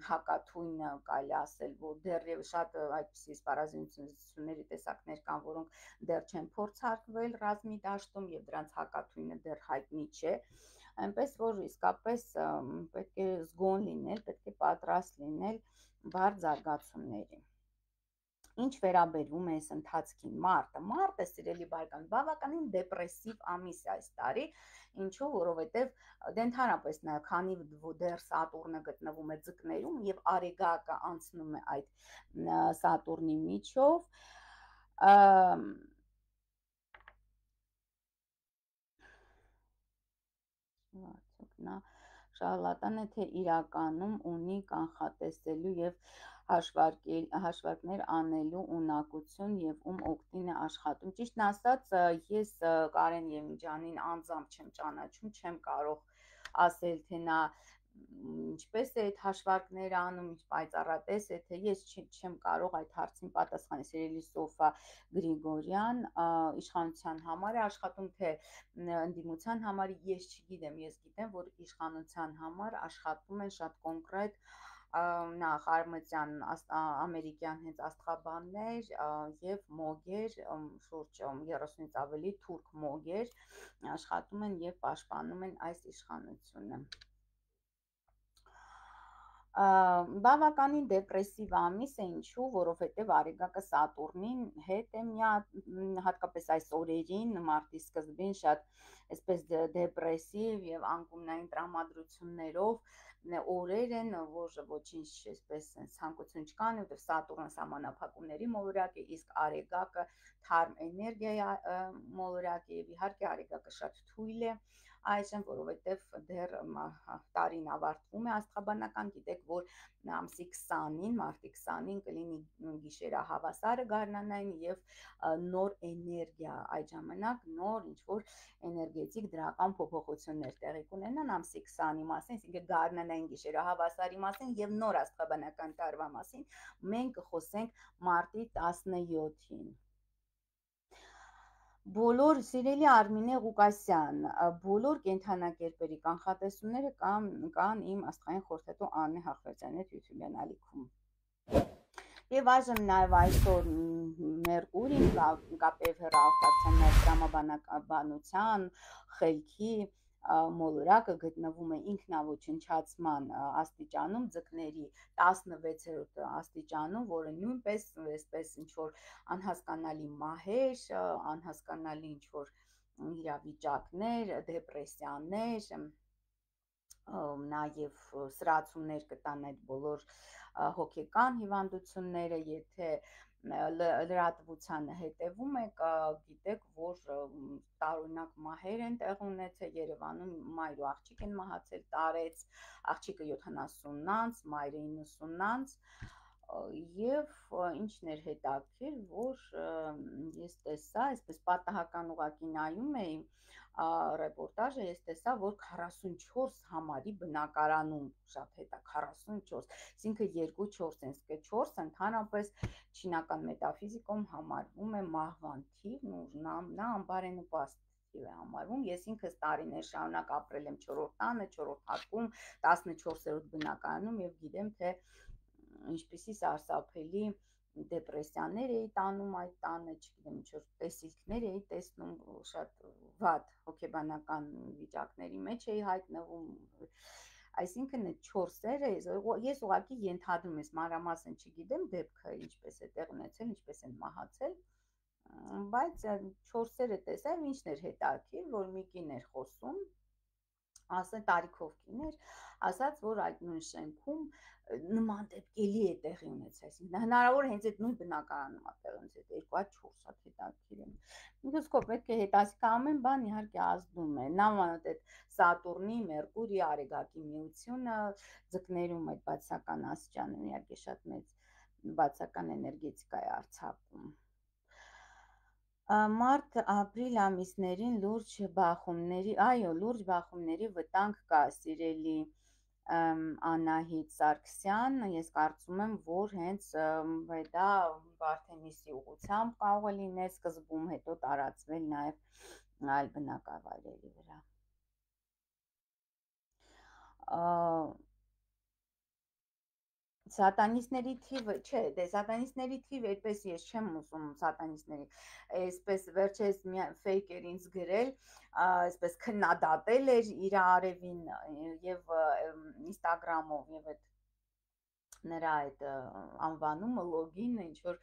հակաթույնը կարելի ասել, որ դեռևս շատ այդպիսի սպառազինությունների տեսակներ կան, որոնք դեռ չեն փորձարկվել ռազմի դաշտում եւ դրանց հակաթույնը դեռ հայտնի չէ, այնպես որ իսկապես պետք է զգոն լինել, պետք է պատրաստ լինել բարդ զարգացումների։ Ինչ վերաբերում է այս ընթացքին, մարտը, մարտը, սիրելի բարեկամ, բավականին դեպրեսիվ ամիս է այս տարի, ինչու, որովհետև դե ընդհանրապես քանի դեռ Սատուրնը գտնվում է ձկներում եւ Արեգակը անցնում է այդ Սատուրնի միջով, Նա շարլատան է, թե իրականում ունի կանխատեսելու և հաշվարկներ անելու ունակություն և ում օգտին է աշխատում։ Ճիշտն ասած, ես Կարեն Եղիջանին անձամբ չեմ ճանաչում, չեմ կարող ասել, թե նա ինչպես է այդ հաշվարկները անում, ինչ պայծառատես է, թե ես չեմ կարող այդ հարցին պատասխանել։ Սիրելի Սոֆա Գրիգորյան, իշխանության համար է աշխատում, թե ընդդիմության համար, ես չգիտեմ, ես գիտեմ, որ իշխանության համար աշխատում են շատ կոնկրետ նախ Արմատյան ամերիկյան հենց աստղաբաններ և մոգեր, շուրջ երեսունից ավելի թուրք մոգեր աշխատում են և պաշտպանում են այս իշխանությունը։ Բավականին դեպրեսիվ ամիս է, ինչու, որովհետև Արեգակը Սատուրնին հետ է հատկապես այս օրերին, մարտի սկզբին շատ այսպես դեպրեսիվ և անկումնային տրամադրություններով օրեր են, որ ոչինչ այսպես ցանկություն չկան, որովհետև Սատուրնը սահմանափակումների մոլորակ է, իսկ Արեգակը թարմ էներգիա մոլորակ է, և իհարկե Արեգակը շատ թույլ է այժմ, որովհետև դեռ տարին ավարտվում է աստղաբանական, գիտեք, որ ամսի քսանին, մարտի քսանին կլինի գիշերահավասարը գարնանային և նոր էներգիա, այդ ժամանակ նոր ինչ-որ էներգետիկ դրական փոփոխություններ տեղի կունենան ամսի քսանի մասին, այսինքն գարնանային գիշերահավասարի մասին և նոր աստղաբանական տարվա մասին մենք կխոսենք մարտի տասնյոթին։ Բոլոր սիրելի Արմինե Ղուկասյան, բոլոր կենդանակերպերի կանխատեսումները կան իմ աստղային խորհրդատու Աննե Հախվերդյանի հետ YouTube-յան ալիքում։ Եվ այժմ նաև այսօր Մերկուրին կապև հեռահաղորդակցության տրամաբանության խելքի մոլորակը գտնվում է ինքնաոչնչացման աստիճանում, ձկների տասնվեցերորդ աստիճանում, որը նույնպես այսպես ինչ-որ անհասկանալի մահեր, անհասկանալի ինչ-որ իրավիճակներ, դեպրեսիաներ, նաև սրացումներ կտան այդ բոլոր հոգեկան հիվանդությունները, եթե լրատվությանը հետևում եք, գիտեք, որ տարօրինակ մահեր են տեղ ունեցել Երևանում, մայր ու աղջիկ են մահացել, տարեց, աղջիկը յոթանասուն անց, մայրը իննսուն անց, և ինչն էր հետաքրքիր, որ ես տեսա, այսպես պատահական ուղղակի նայում էի ռեպորտաժը, ես տեսա, որ քառասունչորս համարի բնակարանում, շատ հետա, քառասունչորս, այսինքն երկու չորս են, իսկ չորսը ընդհանրապես չինական մետաֆիզիկում համարվում է մահվան թիվ, նա անբարենպաստ թիվ է համարվում, ես ինքս տարիներ շարունակ ապրել եմ չորրորդ տանը, չորրորդ հարկում, տասնչորսերորդ բնակարանում և գիտեմ, թե ինչպիսի սարսափելի դեպրեսիաներ էի տանում այդ տանը, չգիտեմ, ինչ-որ տեսիլքներ էի տեսնում, շատ վատ հոգեբանական վիճակների մեջ էի հայտնվում, այսինքն այդ չորսերը, ես ուղղակի ենթադրում եմ, մանրամասն չգիտեմ դեպքը ինչպես է տեղ ունեցել, ինչպես են մահացել, բայց չորսերը տեսա, ինչն էր հետաքրքիր, որ մի կին էր խոսում, ասել տարիքով կին էր, ասաց, որ այդ նույն շենքում նման դեպք էլի է տեղի ունեցել, այսինքն հնարավոր է հենց այդ նույն բնակարանում է տեղի ունեցել, երկու հատ չորս հատ հետաքրքիր է։ Ինքնսկոպ պետք է հետաքրքիր ամեն բան իհարկե ազդում է, նամանոտ այդ Սատուրնի, Մերկուրի, Արեգակի միությունը ձկներում այդ բացական աստիճանում իհարկե շատ մեծ բացական էներգետիկա է արձակում։ Մարտ, ապրիլ ամիսներին լուրջ բախումների, այո, լուրջ բախումների վտանգ կա, սիրելի Անահիտ Սարգսյան, ես կարծում եմ, որ հենց դա Վարդենիսի ուղղությամբ կարող է լինել սկզբում, հետո տարածվել նաև այլ բնակավայրերի վրա։ Սատանիստների թիվը, չէ, դե սատանիստների թիվը այդպես ես չեմ ուզում սատանիստների, այսպես վերջերս ֆեյք էր ինձ գրել, այսպես քննադատել էր իր արևին և ինստագրամով և այդ նրա այդ անվանումը լոգին ինչ որ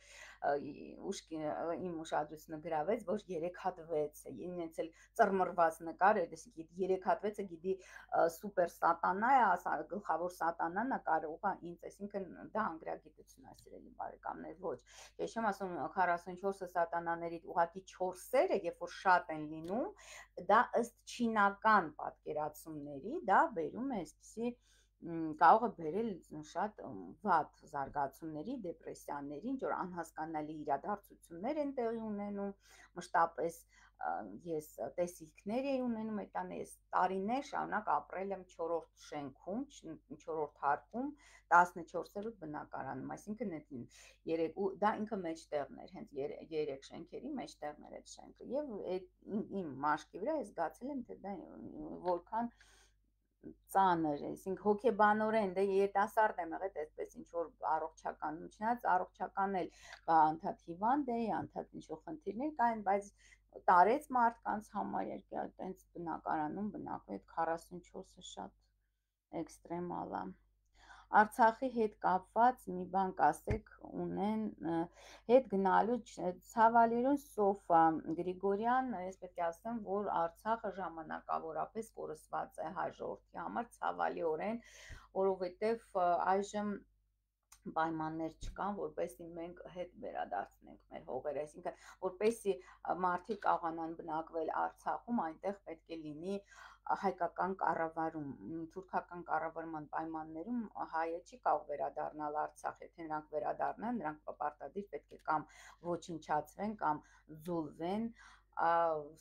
ուշքի իմ ուշադրությունը գրավեց, որ երեք հատ վեց է, ինձ էլ ծռմռված նկար է, դեսի երեք հատ վեց է, գիտի սուպեր սատանա է, ասա գլխավոր սատանան է կարող է ինձ, այսինքն դա անգրագիտություն է, սիրելի բարեկամներ, ոչ։ Ես չեմ ասում քառասունչորսը սատանաների ուղղակի չորսերը, երբ որ շատ են լինում, դա ըստ չինական պատկերացումների, դա բերում է այսպիսի կարող է բերել շատ վատ զարգացումների, դեպրեսիաների, ինչ որ անհասկանալի իրադարձություններ են տեղի ունենում, մշտապես ես տեսիլքներ էի ունենում այդ տանը, ես տարիներ շարունակ ապրել եմ չորրորդ շենքում, չորրորդ հարկում, տասնչորսերորդ բնակարանում, այսինքն այդ երեք ու դա ինքը մեջտեղն էր, հենց երեք շենքերի մեջտեղն էր այդ շենքը, եւ իմ մաշկի վրա ես զգացել եմ, թե դա որքան ծանր է, այսինքն հոգեբանորեն, դե երիտասարդ եմ եղել, այսպես ինչ որ առողջականում, չնայած առողջական էլ անդադ հիվանդ էի, անդադ ինչ որ խնդիրներ կային, բայց տարեց մարդկանց համար այտենց բնակարանում բնակվել, այդ քառասունչորսը շատ էքստրեմալ է։ Արցախի հետ կապված մի բան կասեք, ունեն հետ գնալու ցավալիորեն Սոֆա Գրիգորյան, ես պետք է ասեմ, որ Արցախը ժամանակավորապես կորսված է հայ ժողովրդի համար, ցավալիորեն, որովհետև այժմ պայմաններ չկան, որպեսզի մենք հետ վերադարձնենք մեր հողերը, այսինքն որպեսզի մարդիկ կարողանան բնակվել Արցախում, այնտեղ պետք է լինի հայկական կառավարում, թուրքական կառավարման պայմաններում հայը չի կարող վերադառնալ Արցախ, եթե նրանք վերադառնան, նրանք պարտադիր պետք է կամ ոչնչացվեն, կամ զուլվեն,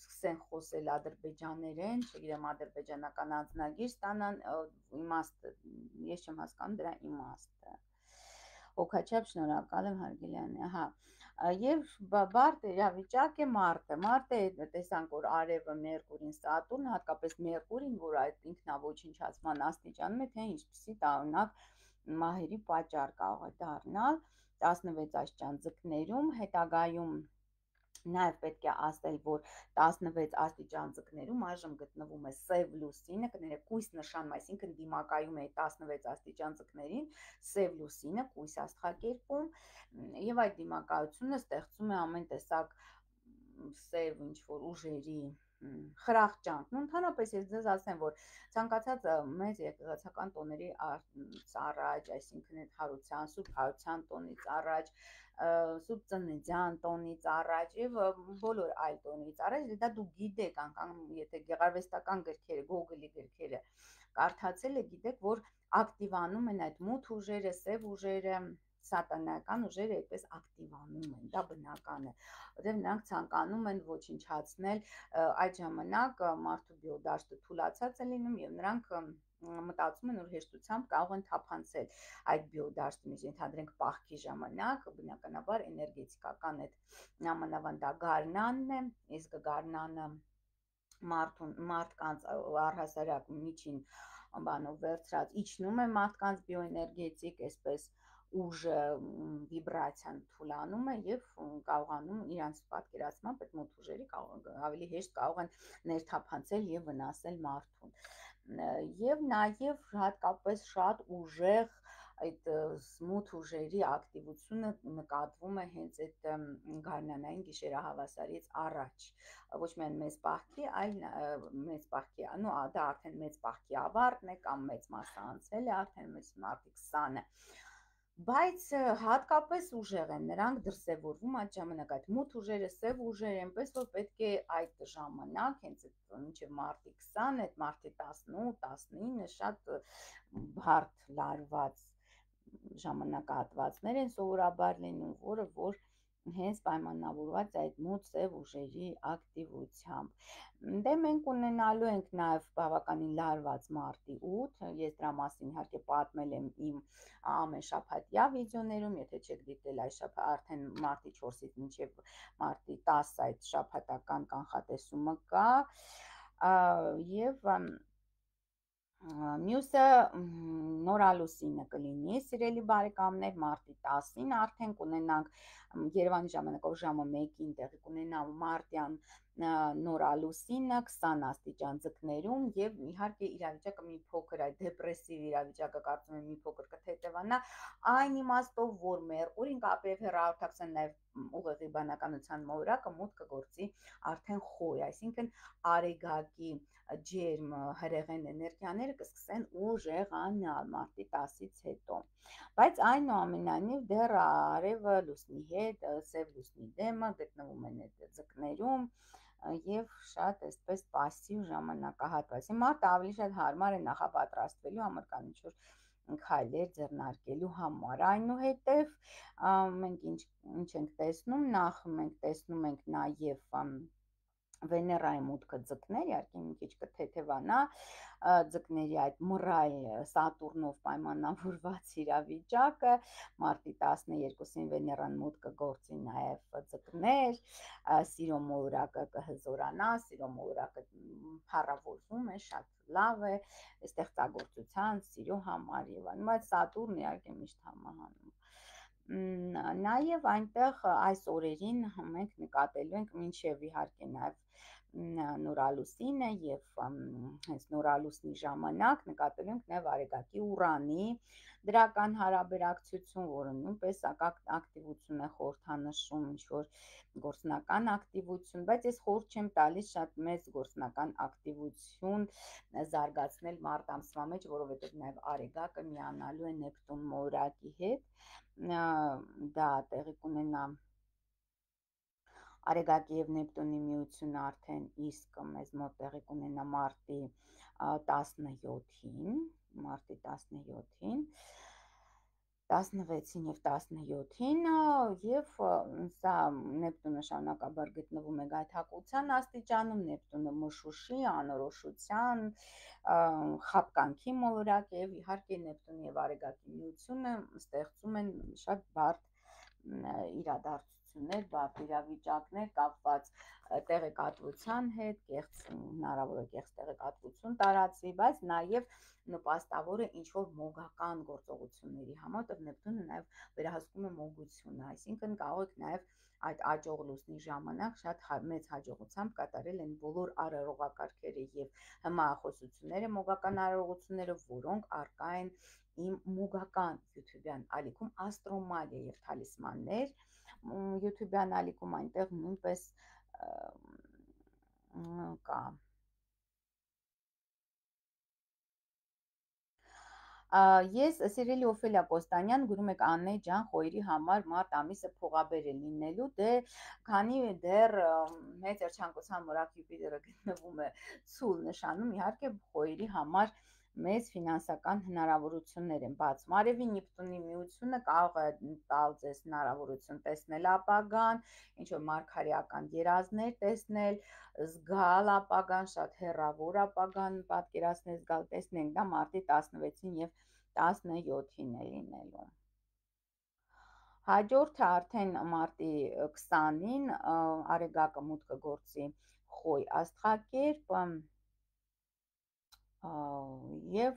սկսեն խոսել ադրբեջաներեն, չգիտեմ, ադրբեջանական անձնագիր ստանան, իմաստը, ես չեմ հասկանում դրա իմաստը։ Հոգաչափ շնորհակալ եմ Հարգելյանի, հա, եւ բարդ իրավիճակ է մարտը, մարտը տեսանք, որ արևը Մերկուրին, Սատուրն, հատկապես Մերկուրին, որ այդ ինքնաոչնչացման աստիճանում է, թե ինչպիսի տարօրինակ մահերի պատճառ կարող է դառնալ տասնվեց աստիճան ձկներում, հետագայում նաև պետք է ասել, որ տասնվեց աստիճան ձկներում այժմ գտնվում է սև լուսինը, կներեք կույս նշանում, այսինքն դիմակայում է տասնվեց աստիճան ձկներին, սև լուսինը, կույս աստղակերպում, եւ այդ դիմակայությունը ստեղծում է ամեն տեսակ սև ինչ-որ ուժերի խրախճանք, ու ընդհանրապես ես ձեզ ասեմ, որ ցանկացած մեծ եկեղեցական տոների առաջ, այսինքն այդ հարության, Սուրբ Հարության տոնից առաջ, Սուրբ Ծննդյան տոնից առաջ եւ բոլոր այլ տոնից առաջ, դա դու գիտեք, անգամ եթե գեղարվեստական գրքերը, Գոգոլի գրքերը կարդացել եք, գիտեք, որ ակտիվանում են այդ մութ ուժերը, սև ուժերը, սատանայական ուժերը այդպես ակտիվանում են, դա բնական է, որտեղ նրանք ցանկանում են ոչնչացնել, այդ ժամանակ մարդու բիոդաշտը թուլացած է լինում եւ նրանք մտածում են, որ հեշտությամբ կարող են թափանցել այդ բիոդաշտի մեջ, ենթադրենք պահքի ժամանակ, բնականաբար էներգետիկական այդ նամանավան դա գարնանն է, իսկ գարնանը մարդուն մարդկանց առհասարակ միջին բանով վերցրած իջնում է մարդկանց բիոէներգետիկ, այսպես ուժը վիբրացիան թուլանում է եւ կարողանում իրանց պատկերացմամբ այդ մոտ ուժերի ավելի հեշտ կարող են ներթափանցել եւ վնասել մարդուն, եւ նաեւ հատկապես շատ ուժեղ այդ մութ ուժերի ակտիվությունը նկատվում է հենց այդ գարնանային գիշերահավասարից առաջ, ոչ միայն մեծ պահքի, այլ մեծ պահքի, նո դա արդեն մեծ պահքի ավարտն է կամ մեծ մասը անցել է արդեն մեծ մարտի քսանը, բայց հատկապես ուժեղ են նրանք դրսևորվում այդ ժամանակ, այդ մութ ուժերը, սև ուժերը, այնպես որ պետք է այդ ժամանակ, հենց մինչև մարտի քսանը, այդ մարտի տասնութ, տասնինը շատ բարդ լարված ժամանակահատվածներ են սովորաբար լինում, որը որ հենց պայմանավորված այդ մութ սև ուժերի ակտիվությամբ։ Դե մենք ունենալու ենք նաև բավականին լարված մարտի ութ, ես դրա մասին իհարկե պատմել եմ իմ ամեն շաբաթյա վիդեոներում, եթե չեք դիտել այս շաբաթ, արդեն մարտի չորսից մինչև մարտի տասը այդ շաբաթական կանխատեսումը կա, եւ մյուսը նորալուսինը կլինի, սիրելի բարեկամներ, մարտի տասին արդեն կունենանք Երևանի ժամանակով ժամը մեկին տեղի կունենա մարտյան նորալուսինը քսան աստիճան ձկներում եւ իհարկե իրավիճակը մի փոքր այդ դեպրեսիվ իրավիճակը կարծում եմ մի փոքր կթեթևանա այն իմաստով որ մերկուրին կապի եւ հեռահաղորդակցության նաեւ ուղեղի բանականության մոլորակը մուտք կգործի արդեն խոյ, այսինքն արեգակի ջերմ հրեղեն էներգիաները կսկսեն ուժեղանալ մարտի տասից հետո, բայց այնուամենայնիվ դեռ արևը լուսնի հետ, սև լուսնի դեմը գտնվում են այդ ձկներում եւ շատ այսպես пассив ժամանակահատված։ Մարտը ավելի շատ հարմար է նախապատրաստվելու համար կամ ինչ-որ քայլեր ձեռնարկելու համար։ Այնուհետև մենք ինչ ինչ ենք տեսնում, նախ մենք տեսնում ենք նաև Վեներայի մուտքը ձկներ, իհարկե մի քիչ կթեթևանա, ձկների այդ մռայլ Սատուրնով պայմանավորված իրավիճակը, մարտի տասներկուսին Վեներան մուտք կգործի նաև ձկներ, սիրո մոլորակը կհզորանա, սիրո մոլորակը փառավորվում է, շատ լավ է, ստեղծագործության, սիրո համար եւ այլն, բայց Սատուրնը իհարկե միշտ համահանում Նաև այնտեղ այս օրերին մենք նկատելու ենք մինչև իհարկե նաև նորալուսինը եւ հենց նորալուսնի ժամանակ նկատելու ենք նաև Արեգակի Ուրանի դրական հարաբերակցություն, որը նույնպես ակտիվություն է խորհրդանշում, ինչ-որ գործնական ակտիվություն, բայց ես խորհուրդ չեմ տալիս շատ մեծ գործնական ակտիվություն զարգացնել մարտ ամսվա մեջ, որովհետև նաև Արեգակը միանալու է Նեպտուն մոլորակի հետ, դա տեղի կունենա Արեգակի եւ Նեպտունի միությունը արդեն իսկ մեզ մոտ տեղի կունենա մարտի տասնյոթին, մարտի տասնյոթին, տասնվեցին եւ տասնյոթին եւ սա Նեպտունը շարունակաբար գտնվում է գայթակղության աստիճանում, Նեպտունը մշուշի, անորոշության, խաբկանքի մոլորակ եւ իհարկե Նեպտունի եւ Արեգակի միությունը ստեղծում են շատ բարդ իրադարձություններ, բարդ իրավիճակներ կապված տեղեկատվության հետ, կեղծ հնարավոր է կեղծ տեղեկատվություն տարածվի, բայց նաև նպաստավոր է ինչ-որ մոգական գործողությունների համար, որտեղ Նեպտունը նաև վերահսկում է մոգությունը, այսինքն կարող եք նաև այդ աճող լուսնի ժամանակ շատ մեծ հաջողությամբ կատարել են բոլոր արարողակարգերը եւ հմայախոսությունները, մոգական արարողությունները, որոնք առկա են իմ մոգական YouTube-յան ալիքում Աստրոմալիա եւ թալիսմաններ YouTube-յան ալիքում այնտեղ նույնպես կա Ես սիրելի Օֆելիա Կոստանյան գրում եք Աննե ջան խոյերի համար մարտ ամիսը փողաբեր է լինելու դե քանի դեռ մեծ երջանկության մորակ Յուպիտերը գտնվում է ցուլ նշանում իհարկե խոյերի համար մեծ ֆինանսական հնարավորություններ են բացում արևի Նեպտունի միությունը կարող է տալ ձեզ հնարավորություն տեսնել ապագան ինչ որ մարգարեական երազներ տեսնել զգալ ապագան շատ հեռավոր ապագան պատկերացնել զգալ տեսնենք դա մարտի տասնվեցին եւ տասնյոթին է լինելու հաջորդը արդեն մարտի քսանին Արեգակը մուտք կգործի խոյ աստղակերպ եւ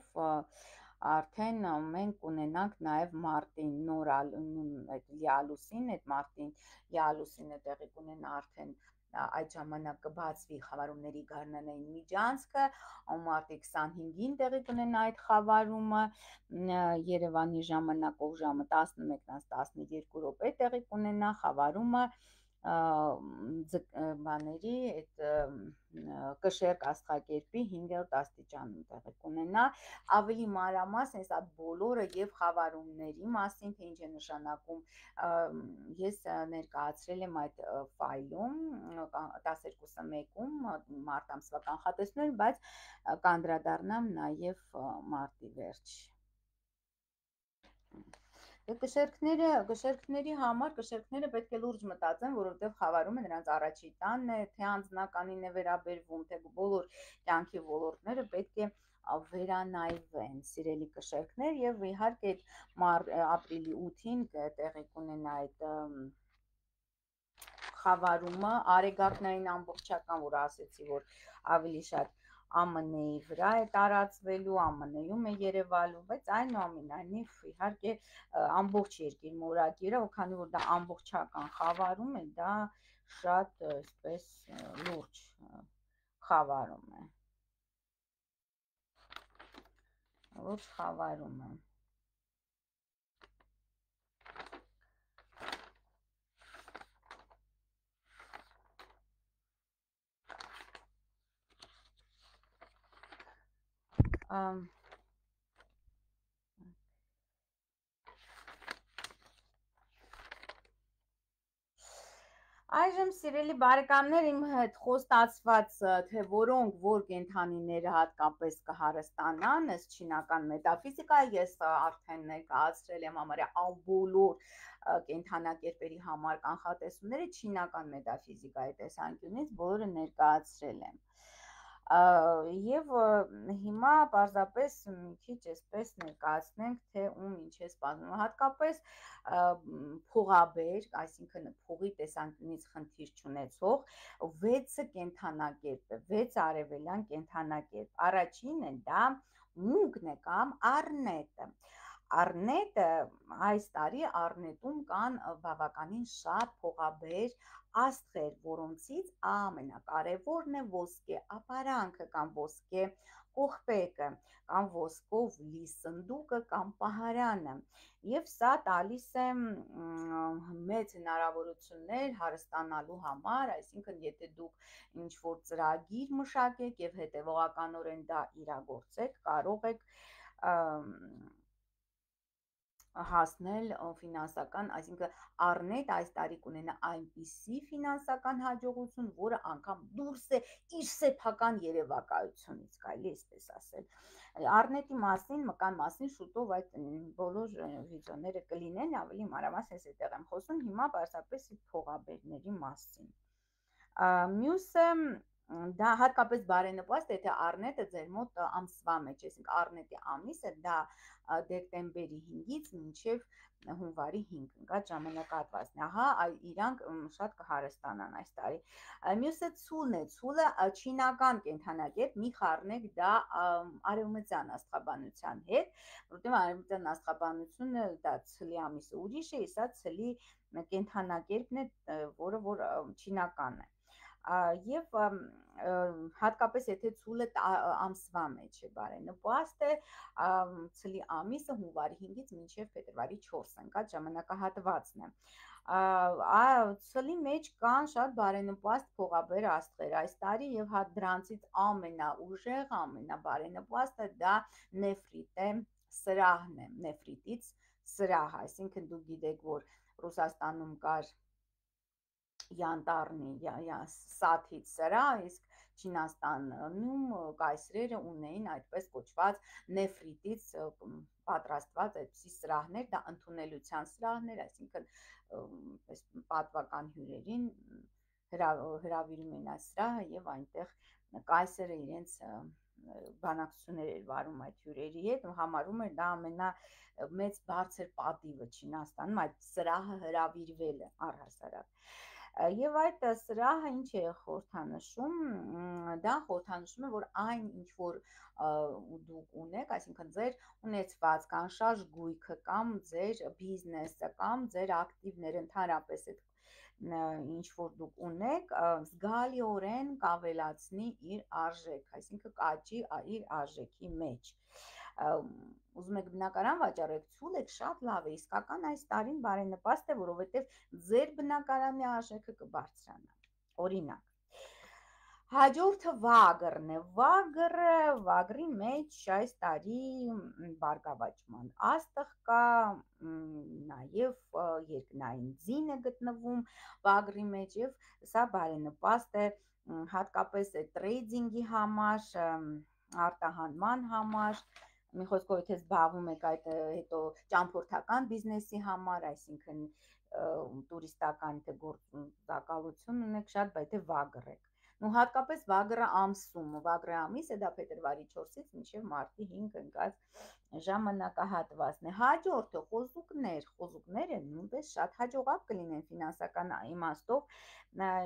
արդեն մենք ունենանք նաև մարտին նորալ այդ լիալուսին, այդ մարտին լիալուսինը տեղի կունենա արդեն այդ ժամանակ կբացվի խավարումների գարնանային միջանցքը, մարտի քսանհինգին տեղի կունենա այդ խավարումը, Երևանի ժամանակով ժամը տասնմեկից տասնյոթ րոպե տեղի կունենա խավարումը բաների այդ կշեռք աստղակերպի հինգերորդ աստիճանում տեղի կունենա ավելի մանրամասն այս այդ բոլորը եւ խավարումների մասին թե ինչ է նշանակում ես ներկայացրել եմ այդ ֆայլում տասներկուսը մեկում մարտ ամսվա կանխատեսումներ բայց կանդրադառնամ նաեւ մարտի վերջ Կշերքները, կշերքների համար կշերքները պետք է լուրջ մտածեն, որովհետև խավարումը նրանց առաջի տանն է, թե անձնականին է վերաբերվում, թե բոլոր կյանքի ոլորտները պետք է վերանայվեն, սիրելի կշերքներ եւ իհարկե ապրիլի ութին տեղի կունենա այդ խավարումը, արեգակնային ամբողջական, որ ասեցի, որ ավելի շատ Ա Մ Ն-ի վրա է տարածվելու, Ա Մ Ն-ում է երևալու, բայց այնուամենայնիվ իհարկե ամբողջ երկրի մորակիրը, քանի որ դա ամբողջական խավարում է, դա շատ այսպես լուրջ խավարում է, լուրջ խավարում է։ Այժմ սիրելի բարեկամներ, իմ հետ խոստացված, թե որոնք որ կենդանիները հատկապես կհարստանան, ըստ չինական մետաֆիզիկայի, ես արդեն ներկայացրել եմ համարյա բոլոր կենդանակերպերի համար կանխատեսումները չինական մետաֆիզիկայի տեսանկյունից բոլորը ներկայացրել եմ։ Եվ հիմա պարզապես մի քիչ այսպես ներկայացնենք, թե ում ինչ է սպասվում, հատկապես փողաբեր, այսինքն փողի տեսանկյունից խնդիր չունեցող վեցը կենդանակերպ է, վեց արևելյան կենդանակերպ։ Առաջինը դա մունկն է կամ առնետը։ Առնետը այս տարի առնետում կան բավականին շատ փողաբեր աստղեր, որոնցից ամենակարևորն է ոսկե ապարանքը կամ ոսկե կողպեկը կամ ոսկով լի սնդուկը կամ պահարանը, եւ սա տալիս է մեծ հնարավորություններ հարստանալու համար, այսինքն եթե դուք ինչ-որ ծրագիր մշակեք եւ հետեւողականորեն դա իրագործեք, կարող եք հասնել ֆինանսական, այսինքն առնետ այս տարի կունենա այնպիսի ֆինանսական հաջողություն, որը անգամ դուրս է իր սեփական երևակայությունից, կարելի է այսպես ասել։ Առնետի մասին, մկան մասին շուտով այդ բոլոր վիդեոները կլինեն, ավելի մանրամասն ես այդտեղ եմ խոսում, հիմա պարզապես փողաբերների մասին։ Մյուսը դա հատկապես բարենպաստ է, եթե առնետը ձեր մոտ ամսվա մեջ, այսինքն առնետի ամիսը դա դեկտեմբերի հինգից մինչև հունվարի հինգ ընկած ժամանակահատվածն է, ահա իրանք շատ կհարստանան այս տարի։ Մյուսը ցուլն է, ցուլը չինական կենդանակերպ, մի խառնեք դա արևմտյան աստղաբանության հետ, որովհետև արևմտյան աստղաբանությունը դա ցլի ամիսը ուրիշ է, սա ցլի կենդանակերպն է, որը որ չինական է։ Եվ հատկապես եթե ցուլը ամսվա մեջ է բարենպաստ է, ցլի ամիսը հունվարի հինգից մինչև փետրվարի չորսը ընկած ժամանակահատվածն է։ Ցլի մեջ կան շատ բարենպաստ փողաբեր աստղեր այս տարի եւ հատ դրանցից ամենաուժեղ, ամենաբարենպաստը դա նեֆրիտ է, սրահն է, նեֆրիտից սրահ, այսինքն դուք գիտեք, որ Ռուսաստանում կար յանտառնի սաթից սրահ, իսկ Չինաստանում կայսրերը ունեին այդպես կոչված նեֆրիտից պատրաստված այդպիսի սրահներ, դա ընդունելության սրահներ, այսինքն պատվական հյուրերին հրավիրում էին այս սրահը եւ այնտեղ կայսրը իրենց բանակցություններ էր վարում այդ հյուրերի հետ, համարում էր դա ամենամեծ բարձր պատիվը Չինաստանում, այդ սրահը հրավիրվելը առհասարակ։ Եվ այդ սրահը ինչ է խորհրդանշում, դա խորհրդանշում է, որ այն ինչ որ դուք ունեք, այսինքն ձեր ունեցվածքը, անշարժ գույքը կամ ձեր բիզնեսը կամ ձեր ակտիվները, ընդհանրապես այդ ինչ որ դուք ունեք, զգալիորեն կավելացնի իր արժեքը, այսինքն կաճի իր արժեքի մեջ։ Ուզում եք բնակարան վաճառեք, ցուլ եք, շատ լավ է, իսկական այս տարին բարենպաստ է, որովհետև ձեր բնակարանի արժեքը կբարձրանա։ Օրինակ, հաջորդը վագրն է, վագրը, վագրի մեջ այս տարի բարգավաճման աստղ կա, նաև երկնային ձին է գտնվում վագրի մեջ եւ սա բարենպաստ է հատկապես տրեյդինգի համար, արտահանման համար, մի խոսքով եթե զբաղվում եք այդ հետո ճամփորդական բիզնեսի համար, այսինքն տուրիստական գործակալություն ունեք շատ, բայց եթե վագր եք, ու հատկապես վագրը ամսում, վագրը ամիսը դա փետրվարի չորսից մինչև մարտի հինգ ընկած ժամանակահատվածն է։ Հաջորդը խոզուկներ, խոզուկները նույնպես շատ հաջողակ կլինեն ֆինանսական իմաստով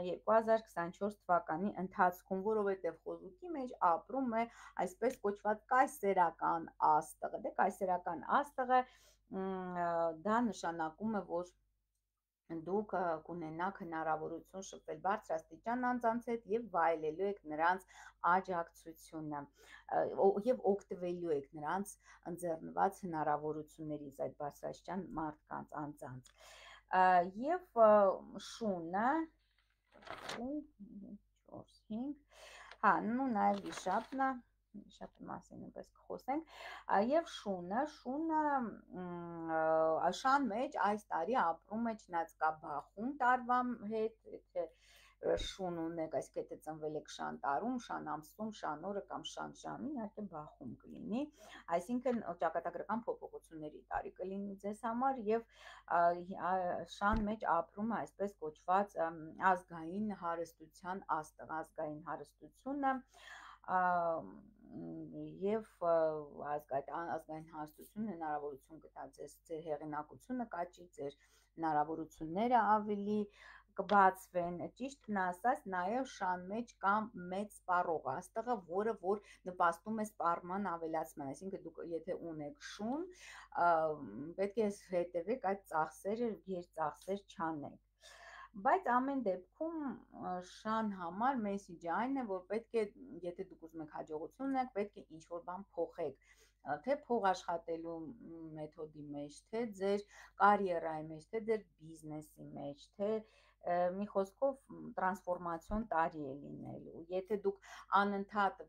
երկու հազար քսանչորս թվականի ընթացքում, որովհետև խոզուկի մեջ ապրում է այսպես կոչված կայսերական աստղը, դե կայսերական աստղը դա նշանակում է, որ դուք կունենաք հնարավորություն շփվել բարձրաստիճան անձանց հետ եւ վայելելու եք նրանց աջակցությունը եւ օգտվելու եք նրանց ընձեռնված հնարավորություններից այդ բարձրաստիճան մարդկանց անձանց եւ շունը չորս հինգ հա նու նաեւ վիշապն է Վիշապի մասին նույնպես կխոսենք եւ շունը շունը շան մեջ այս տարի ապրում է չնայած կա բախում տարվա հետ, եթե շուն ունեք, այսինքն եթե ծնվել եք շան տարում, շան ամսում, շան օրը կամ շան ժամին, իհարկե բախում կլինի, այսինքն ճակատագրական փոփոխությունների տարի կլինի ձեզ համար եւ շան մեջ ապրում է այսպես կոչված ազգային հարստության աստղ, ազգային հարստությունը եւ ազգային հարստությունը հնարավորություն կտա ձեզ ձեր հեղինակությունը կաճի, ձեր հնարավորությունները ավելի կբացվեն, ճիշտն ասած, նաև շան մեջ կա մեծ սպառող աստղը, որը որ նպաստում է սպառման ավելացման, այսինքն դուք եթե ունեք շուն, պետք է հետևեք այդ ծախսերը, գերծախսեր չանեք։ Բայց ամեն դեպքում շան համար մեսիջը այն է, որ պետք է, եթե դուք ուզում եք հաջողություն ունեք, պետք է ինչ-որ բան փոխեք, թե փող աշխատելու մեթոդի մեջ, թե ձեր կարիերայի մեջ, թե ձեր բիզնեսի մեջ, թե մի խոսքով տրանսֆորմացիոն տարի է լինելու։ Եթե դուք անընդհատ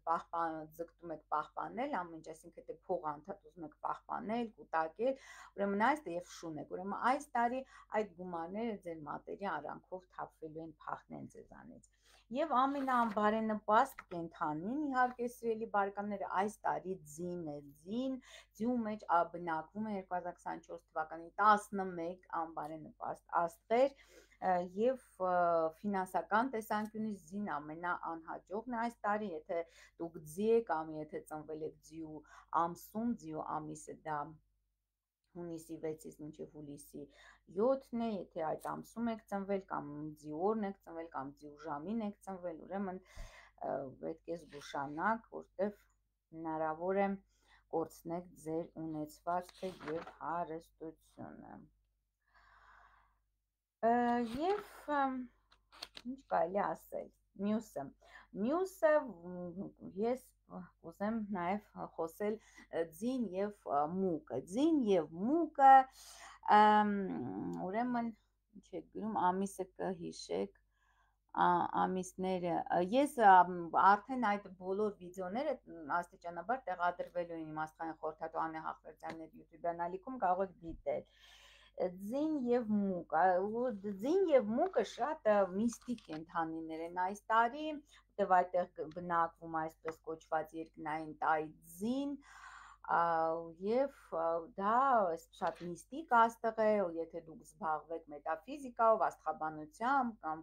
ձգտում եք պահպանել ամեն ինչ, այսինքն թե փող անընդհատ ուզում եք պահպանել, կուտակել, ուրեմն այս եւ շուն եք։ Ուրեմն այս տարի այդ գումարները ձեր մատերի արանքով թափվելու են, փախնեն ձեզանից։ Եվ ամենաբարենպաստ կենդանին, իհարկե սիրելի բարեկամներ, այս տարի ձին է, ձին, ձիու մեջ բնակվում է երկու հազար քսանչորս թվականի տասնմեկ անբարենպաստ աստղեր եւ ֆինանսական տեսանկյունից ձին ամենաանհաջողն է այս տարի, եթե դուք ձի եք կամ եթե ծնվել եք ձիու ամսում, ձիու ամիսը դա հունիսի վեցից մինչև հուլիսի յոթն է, եթե այդ ամսում եք ծնվել կամ ձիու օրն եք ծնվել կամ ձիու ժամին եք ծնվել, ուրեմն պետք է զգուշանաք, որտեղ հնարավոր է կորցնեք ձեր ունեցվածքը եւ հարստությունը։ Եվ ինչ կարելի ասել, մյուսը, մյուսը ես կուզեմ նաև խոսել ձին եւ մուկը, ձին եւ մուկը, ուրեմն ինչ է գրում, ամիսը կհիշեք, ամիսները, ես արդեն այդ բոլոր վիդեոները աստիճանաբար տեղադրվելու են իմ աստղային խորհրդատու Անե Հախվերդյանների YouTube ալիքում, կարող եք դիտել։ Ձին եւ մուկ, ձին եւ մուկը շատ միստիկ կենդանիներ են այս տարի, որտեղ այդտեղ բնակվում այսպես կոչված երկնային տայի ձին, եւ դա շատ միստիկ աստղ է, եթե դուք զբաղվեք մետաֆիզիկայով, աստղաբանությամբ կամ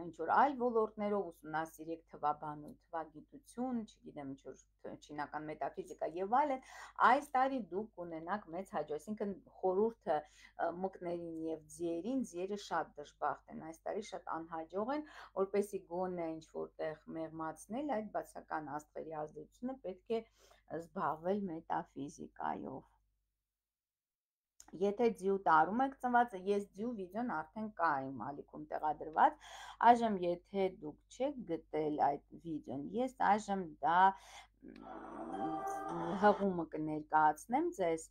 ինչ-որ այլ ոլորտներով, ուսումնասիրեք թվաբանություն, թվագիտություն, չգիտեմ, ինչ-որ չինական մետաֆիզիկա եւ այլն, այս տարի դուք կունենաք մեծ հաջող, այսինքն խորհուրդը մկներին եւ ձիերին, ձիերը շատ դժբախտ են, այս տարի շատ անհաջող են, որպեսզի գոնե ինչ-որտեղ մեղմացնել այդ բացական աստղերի ազդեցությունը, պետք է զբաղվել մետաֆիզիկայով։ Եթե ձիու տարում եք ծնված, ես ձիու վիդեոն արդեն կա իմ ալիքում տեղադրված, այժմ եթե դուք չեք գտել այդ վիդեոն, ես այժմ դա հղումը կներկայացնեմ ձեզ,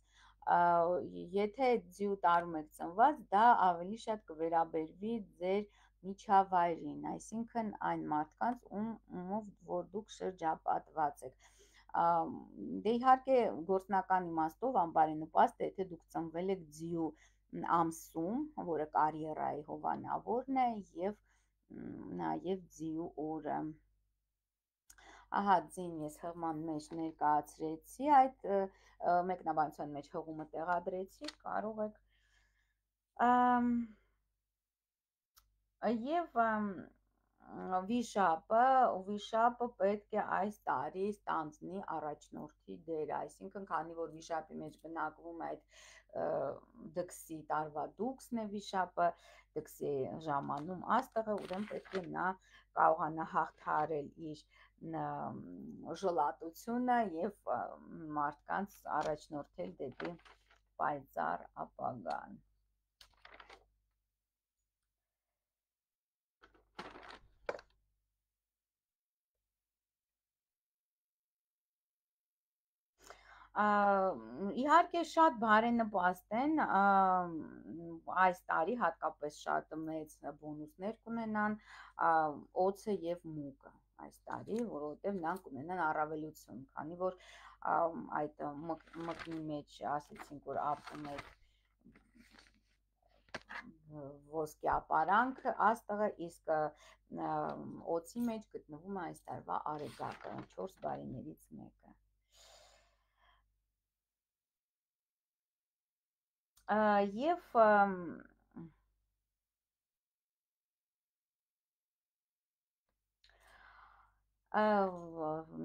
եթե ձիու տարում եք ծնված, դա ավելի շատ կվերաբերվի ձեր միջավայրին, այսինքն այն մարդկանց, ումով որ դուք շրջապատված եք։ Դե իհարկե գործնական իմաստով անբարենպաստ է, եթե դուք ծնվել եք ձիու ամսում, որը կարիերայի հովանավորն է, եւ նաեւ ձիու օրը։ Ահա ձին ես հղման մեջ ներկայացրեցի, այդ մեկնաբանության մեջ հղումը տեղադրեցի, կարող եք եւ Վիշապը վիշապը պետք է այս տարի ստանձնի առաջնորդի դեր, այսինքն քանի որ վիշապի մեջ բնակվում է այդ դքսի տարվա դուքսն է վիշապը, դքսի ժամանում աստղը, ուրեմն պետք է նա կարողանա հաղթահարել իր ժլատությունը եւ մարդկանց առաջնորդել դեպի պայծառ ապագան։ Իհարկե շատ բարենպաստ են այս տարի հատկապես շատ մեծ բոնուսներ կունենան օձը եւ մուկը այս տարի, որովհետեւ նրանք կունենան առավելություն, քանի որ այդ մկնի մեջ ասեցինք, որ ապրում է ոսկե ապարանքը աստղը, իսկ օձի մեջ գտնվում է այս տարվա արեգակը, չորս բարիներից մեկը։ Եվ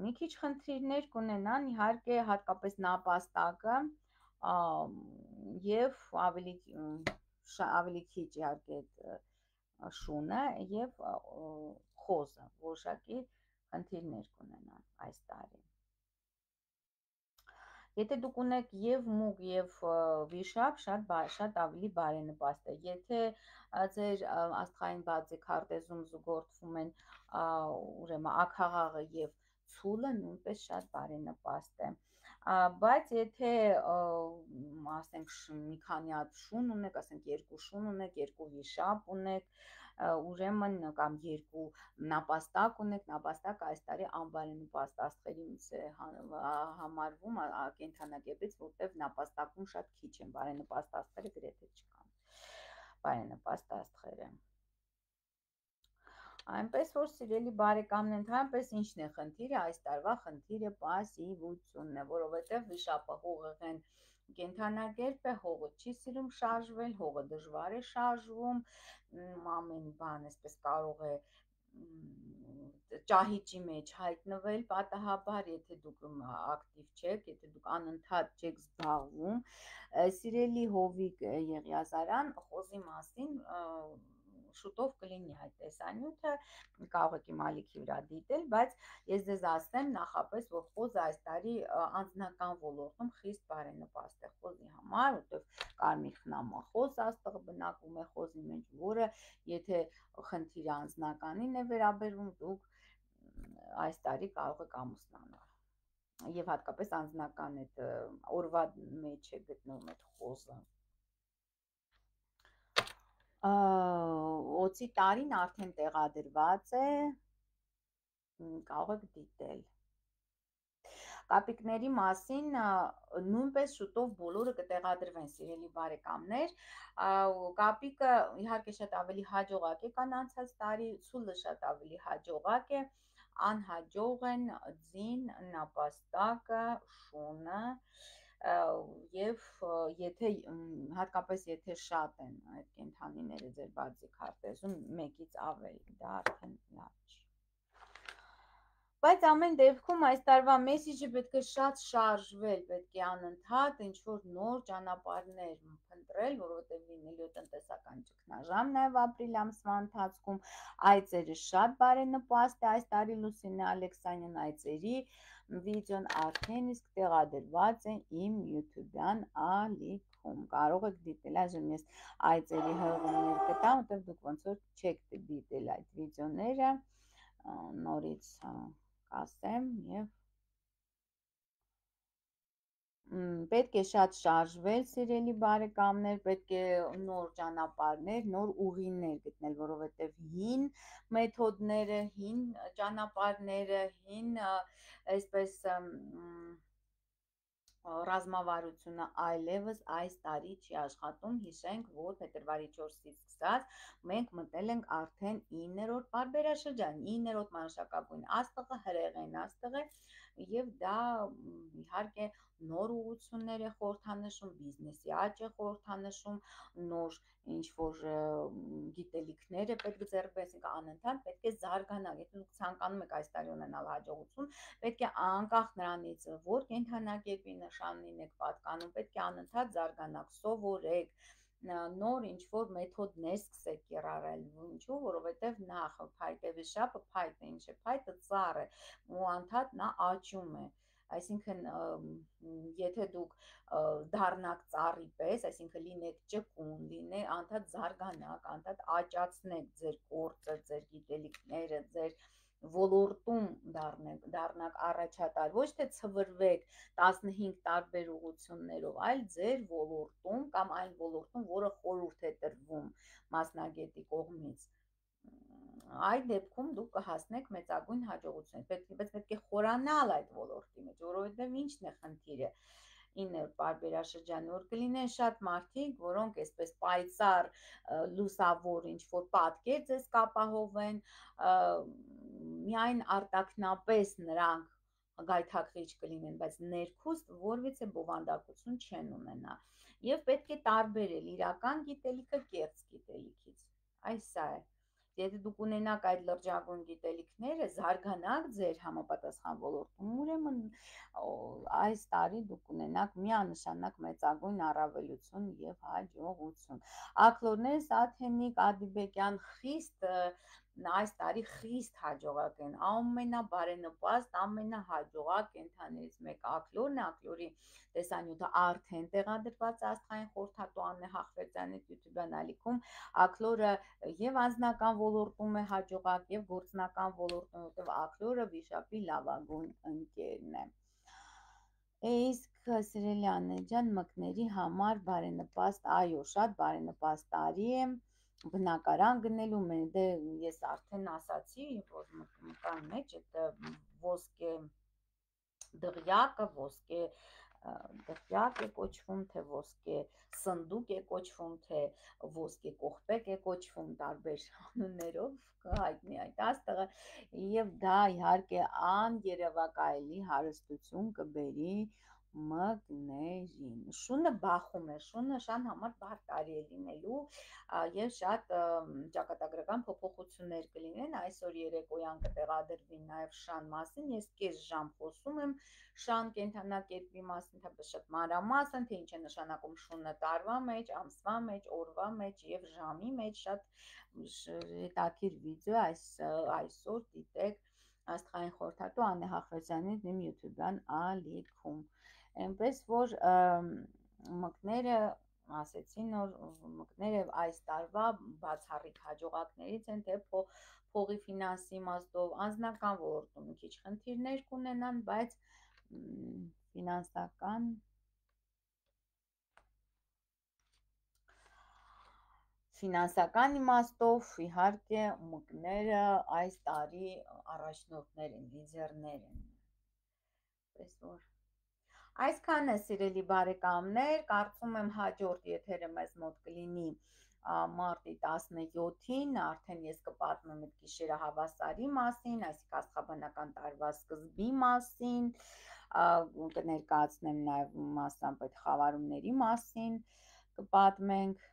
մի քիչ խնդիրներ կունենան, իհարկե հատկապես նապաստակը եւ ավելի ավելի քիչ իհարկե շունը եւ խոզը, որոշակի խնդիրներ կունենան այս տարի։ Եթե դուք ունեք եւ մուկ եւ վիշապ, շատ շատ ավելի բարենպաստ է։ Եթե ձեր աստղային բազի քարտեզում զուգորդվում են ուրեմն աքաղաղը եւ ցուլը, նույնպես շատ բարենպաստ է։ Բայց եթե ասենք մի քանի հատ շուն ունեք, ասենք երկու շուն ունեք, երկու վիշապ ունեք, ուրեմն կամ երկու նապաստակ ունեք, նապաստակը այս տարի անբարենպաստ աստղերից է համարվում կենդանակերպից, որտեղ նապաստակում շատ քիչ են բարենպաստ աստղերը, գրեթե չկան բարենպաստ աստղերը։ Այնպես որ սիրելի բարեկամներ, ընդհանրապես ինչն է խնդիրը, այս տարվա խնդիրը պասիվությունն է, որովհետև վիշապը հողեղեն կենդանակերպ է, հողը չի սիրում շարժվել, հողը դժվար է շարժվում, ամեն բան այսպես կարող է ճահիճի մեջ հայտնվել պատահաբար, եթե դուք ակտիվ չեք, եթե դուք անընդհատ չեք զբաղվում։ Սիրելի Հովիկ Եղիազարյան, խոզի մասին շուտով կլինի այդ տեսանյութը, կարող եք իմ ալիքի վրա դիտել, բայց ես ձեզ ասեմ նախապես, որ խոզը այս տարի անձնական ոլորտում խիստ բարենպաստ է խոզի համար, որտեղ կարմիր խնամախոզ աստղը բնակվում է խոզի մեջ, որը եթե խնդիրը անձնականին է վերաբերվում, դուք այս տարի կարող եք ամուսնանալ եւ հատկապես անձնական այդ օրվա մեջ է գտնվում այդ խոզը։ Օծի տարին արդեն տեղադրված է, կարող եք դիտել։ Կապիկների մասին նույնպես շուտով բոլորը կտեղադրվեն, սիրելի բարեկամներ, կապիկը իհարկե շատ ավելի հաջողակ է կան անցած տարի, ցուլը շատ ավելի հաջողակ է, անհաջող են ձին, նապաստակը, շունը, եւ եթե հատկապես եթե շատ են այդ կենդանիները ձեր բացի քարտեզում մեկից ավելի, դա արդեն լավ չի։ Բայց ամեն դեպքում այս տարվա մեսիջը պետք է շատ շարժվել, պետք է անընդհատ ինչ-որ նոր ճանապարհներ փնտրել, որովհետև լինելու տնտեսական ճգնաժամ նաև ապրիլ ամսվա ընթացքում, այծերը շատ բարենպաստ է այս տարի Լուսինե Ալեքսանյան այծերի վիդեոն արդեն իսկ տեղադրված է իմ YouTube-յան ալիքում, կարող եք դիտել, այժմ ես այծերի հղումներ կտամ, որտեղ դուք ոնց որ չեք դիտել այդ վիդեոները, նորից ասեմ եւ պետք է շատ շարժվել, սիրելի բարեկամներ, պետք է նոր ճանապարհներ, նոր ուղիներ գտնել, որովհետեւ հին մեթոդները, հին ճանապարհները, հին այսպես ռազմավարությունը այլևս այս տարի չի աշխատում, հիշենք, որ փետրվարի չորսից սկսած մենք մտել ենք արդեն իններորդ պարբերաշրջան, իններորդ մանուշակագույն աստղը հրեղեն աստղ է, եւ դա իհարկե նոր ուղղություններ է խորհրդանշում, բիզնեսի աճ է խորհրդանշում, նոր ինչ որ գիտելիքներ է պետք ձեռք բերել, այսինքն անընդհատ պետք է զարգանալ։ Եթե դուք ցանկանում եք այս տարի ունենալ հաջողություն, պետք է անկախ նրանից, որ կենդանակերպի նշանին եք պատկանում, պետք է անընդհատ զարգանաք, սովորեք, նոր ինչ որ մեթոդներ սկսեք կիրառել, ինչու, որովհետև նախ փայտե վիշապը, փայտը ինչ է, փայտը ծառ է ու անդադ նա աճում է, այսինքն եթե դուք դառնաք ծառի պես, այսինքն լինեք ճկուն, լինեք անդադ զարգանաք, անդադ աճացնեք ձեր գործը, ձեր գիտելիքները, ձեր ոլորտում դառնեք, դառնաք առաջատար, ոչ թե ցվրվեք տասնհինգ տարբեր ուղղություններով, այլ ձեր ոլորտում կամ այն ոլորտում, որը խորհուրդ է տրվում մասնագետի կողմից, այդ դեպքում դուք կհասնեք մեծագույն հաջողության, բայց պետք է խորանալ այդ ոլորտի մեջ, որովհետև ինչն է խնդիրը, ինը պարբերաշրջանի որ կլինեն շատ մարդիկ, որոնք այսպես պայծառ լուսավոր ինչ-որ պատկեր ձեզ կապահովեն, միայն արտաքնապես նրանք գայթակղիչ կլինեն, բայց ներքուստ որևիցե բովանդակություն չեն ունենա, և պետք է տարբերել իրական գիտելիքը կեղծ գիտելիքից, այս սա է, եթե դուք ունենաք այդ լրջագույն գիտելիքները, զարգանաք ձեր համապատասխան ոլորտում, ուրեմն այս տարի դուք ունենաք միանշանակ մեծագույն առավելություն և հաջողություն։ Աքլորներ Սաթենիկ Ադիբեկյան խիստ այս տարի խիստ հաջողակ են, ամենաբարենպաստ, ամենահաջողակ կենդանիներից մեկը աքլորն է, աքլորի տեսանյութը արդեն տեղադրված աստղային խորհրդատու Աննե Հախվերդյանի YouTube-յան ալիքում, աքլորը և անձնական ոլորտում է հաջողակ և գործնական ոլորտում, որտեղ աքլորը վիշապի լավագույն ընկերն է։ Իսկ սիրելի Աննե ջան, մկների համար բարենպաստ, այո, շատ բարենպաստ տարի է, բնակարան գնելու մեն, դե ես արդեն ասացի, որ մկան մեջ այդ ոսկե դղյակը, ոսկե դղյակ է կոչվում, թե ոսկե սնդուկ է կոչվում, թե ոսկե կողպեկ է կոչվում տարբեր անուններով, հայտնի այդ աստղը, և դա իհարկե աներևակայելի հարստություն կբերի մկներին, շունը բախում է, շունը շան համար բարդ տարի է լինելու և շատ ճակատագրական փոփոխություններ կլինեն, այսօր երեկոյան կտեղադրվի նաև շան մասին, ես կես ժամ խոսում եմ շան կենդանակերպի մասին, թեպետ շատ մանրամասն, թե ինչ է նշանակում շունը տարվա մեջ, ամսվա մեջ, օրվա մեջ և ժամի մեջ, շատ հետաքրքիր վիդեո այսօր դիտեք աստղային խորհրդատու Աննե Հախվերդյանի իմ YouTube-յան ալիքում, այնպես որ մկները ասեցին, որ մկները այս տարվա բացառիկ հաջողակներից են, թե փողի ֆինանսի իմաստով, անձնական ոլորտում մի քիչ խնդիրներ կունենան, բայց ֆինանսական Ֆինանսական իմաստով իհարկե մկները այս տարի առաջնորդներ են, լիդերներ են, պես որ այսքանը սիրելի բարեկամներ, կարծում եմ հաջորդ եթերը մեզ մոտ կլինի մարտի տասնյոթին, արդեն ես կպատմեմ այդ գիշերը հավասարի մասին, այսինքն աստղաբանական տարվա սկզբի մասին, կներկայացնեմ նաև մասամբ այդ խավարումների մասին կպատմենք,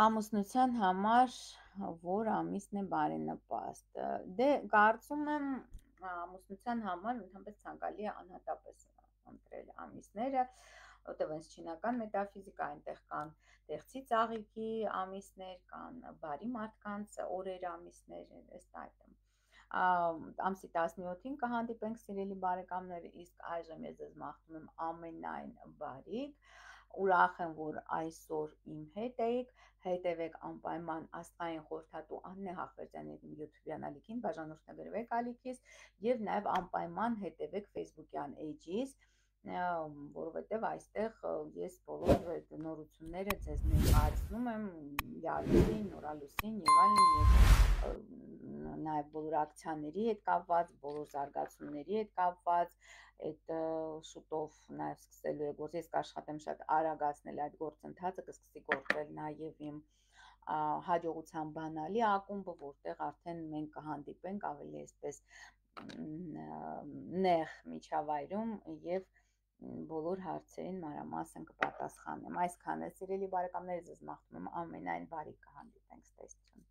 ամուսնության համար որ ամիսն է բարենպաստ, դե կարծում եմ ամուսնության համար ընդհանրապես ցանկալի է անհատապես ընտրել ամիսները, որտեղ այս չինական մետաֆիզիկա, այնտեղ կան տեղցի ծաղիկի ամիսներ, կան բարի մարդկանց օրեր ամիսներ, այս այդմ ամսի տասնյոթին կհանդիպենք սիրելի բարեկամներ, իսկ այժմ ես ձեզ մաղթում եմ ամենայն բարիք, ուրախ եմ, որ այսօր իմ հետ էիք, հետևեք անպայման աստղային խորհրդատու Աննե Հախվերդյանի YouTube-յան ալիքին, բաժանորդագրվեք ալիքից և նաև անպայման հետևեք Facebook-յան էջից, որովհետև այստեղ ես բոլոր նորությունները ձեզ ներկայացնում եմ, յալուսին, նորալուսին և այլն, նաև բոլոր ակցիաների հետ կապված, բոլոր զարգացումների հետ կապված, այդ շուտով նաև սկսելու է գործ, ես կաշխատեմ շատ արագացնել այդ գործընթացը, կսկսի գործել նաև իմ հաջողության բանալի ակումբը, որտեղ արդեն մենք կհանդիպենք ավելի այսպես նեղ միջավայրում եւ բոլոր հարցերին մանրամասն կպատասխանեմ։ Այսքանը, սիրելի բարեկամներ, ձեզ մաղթում եմ ամենայն բարիքը, հանդիպենք, ստեսություն։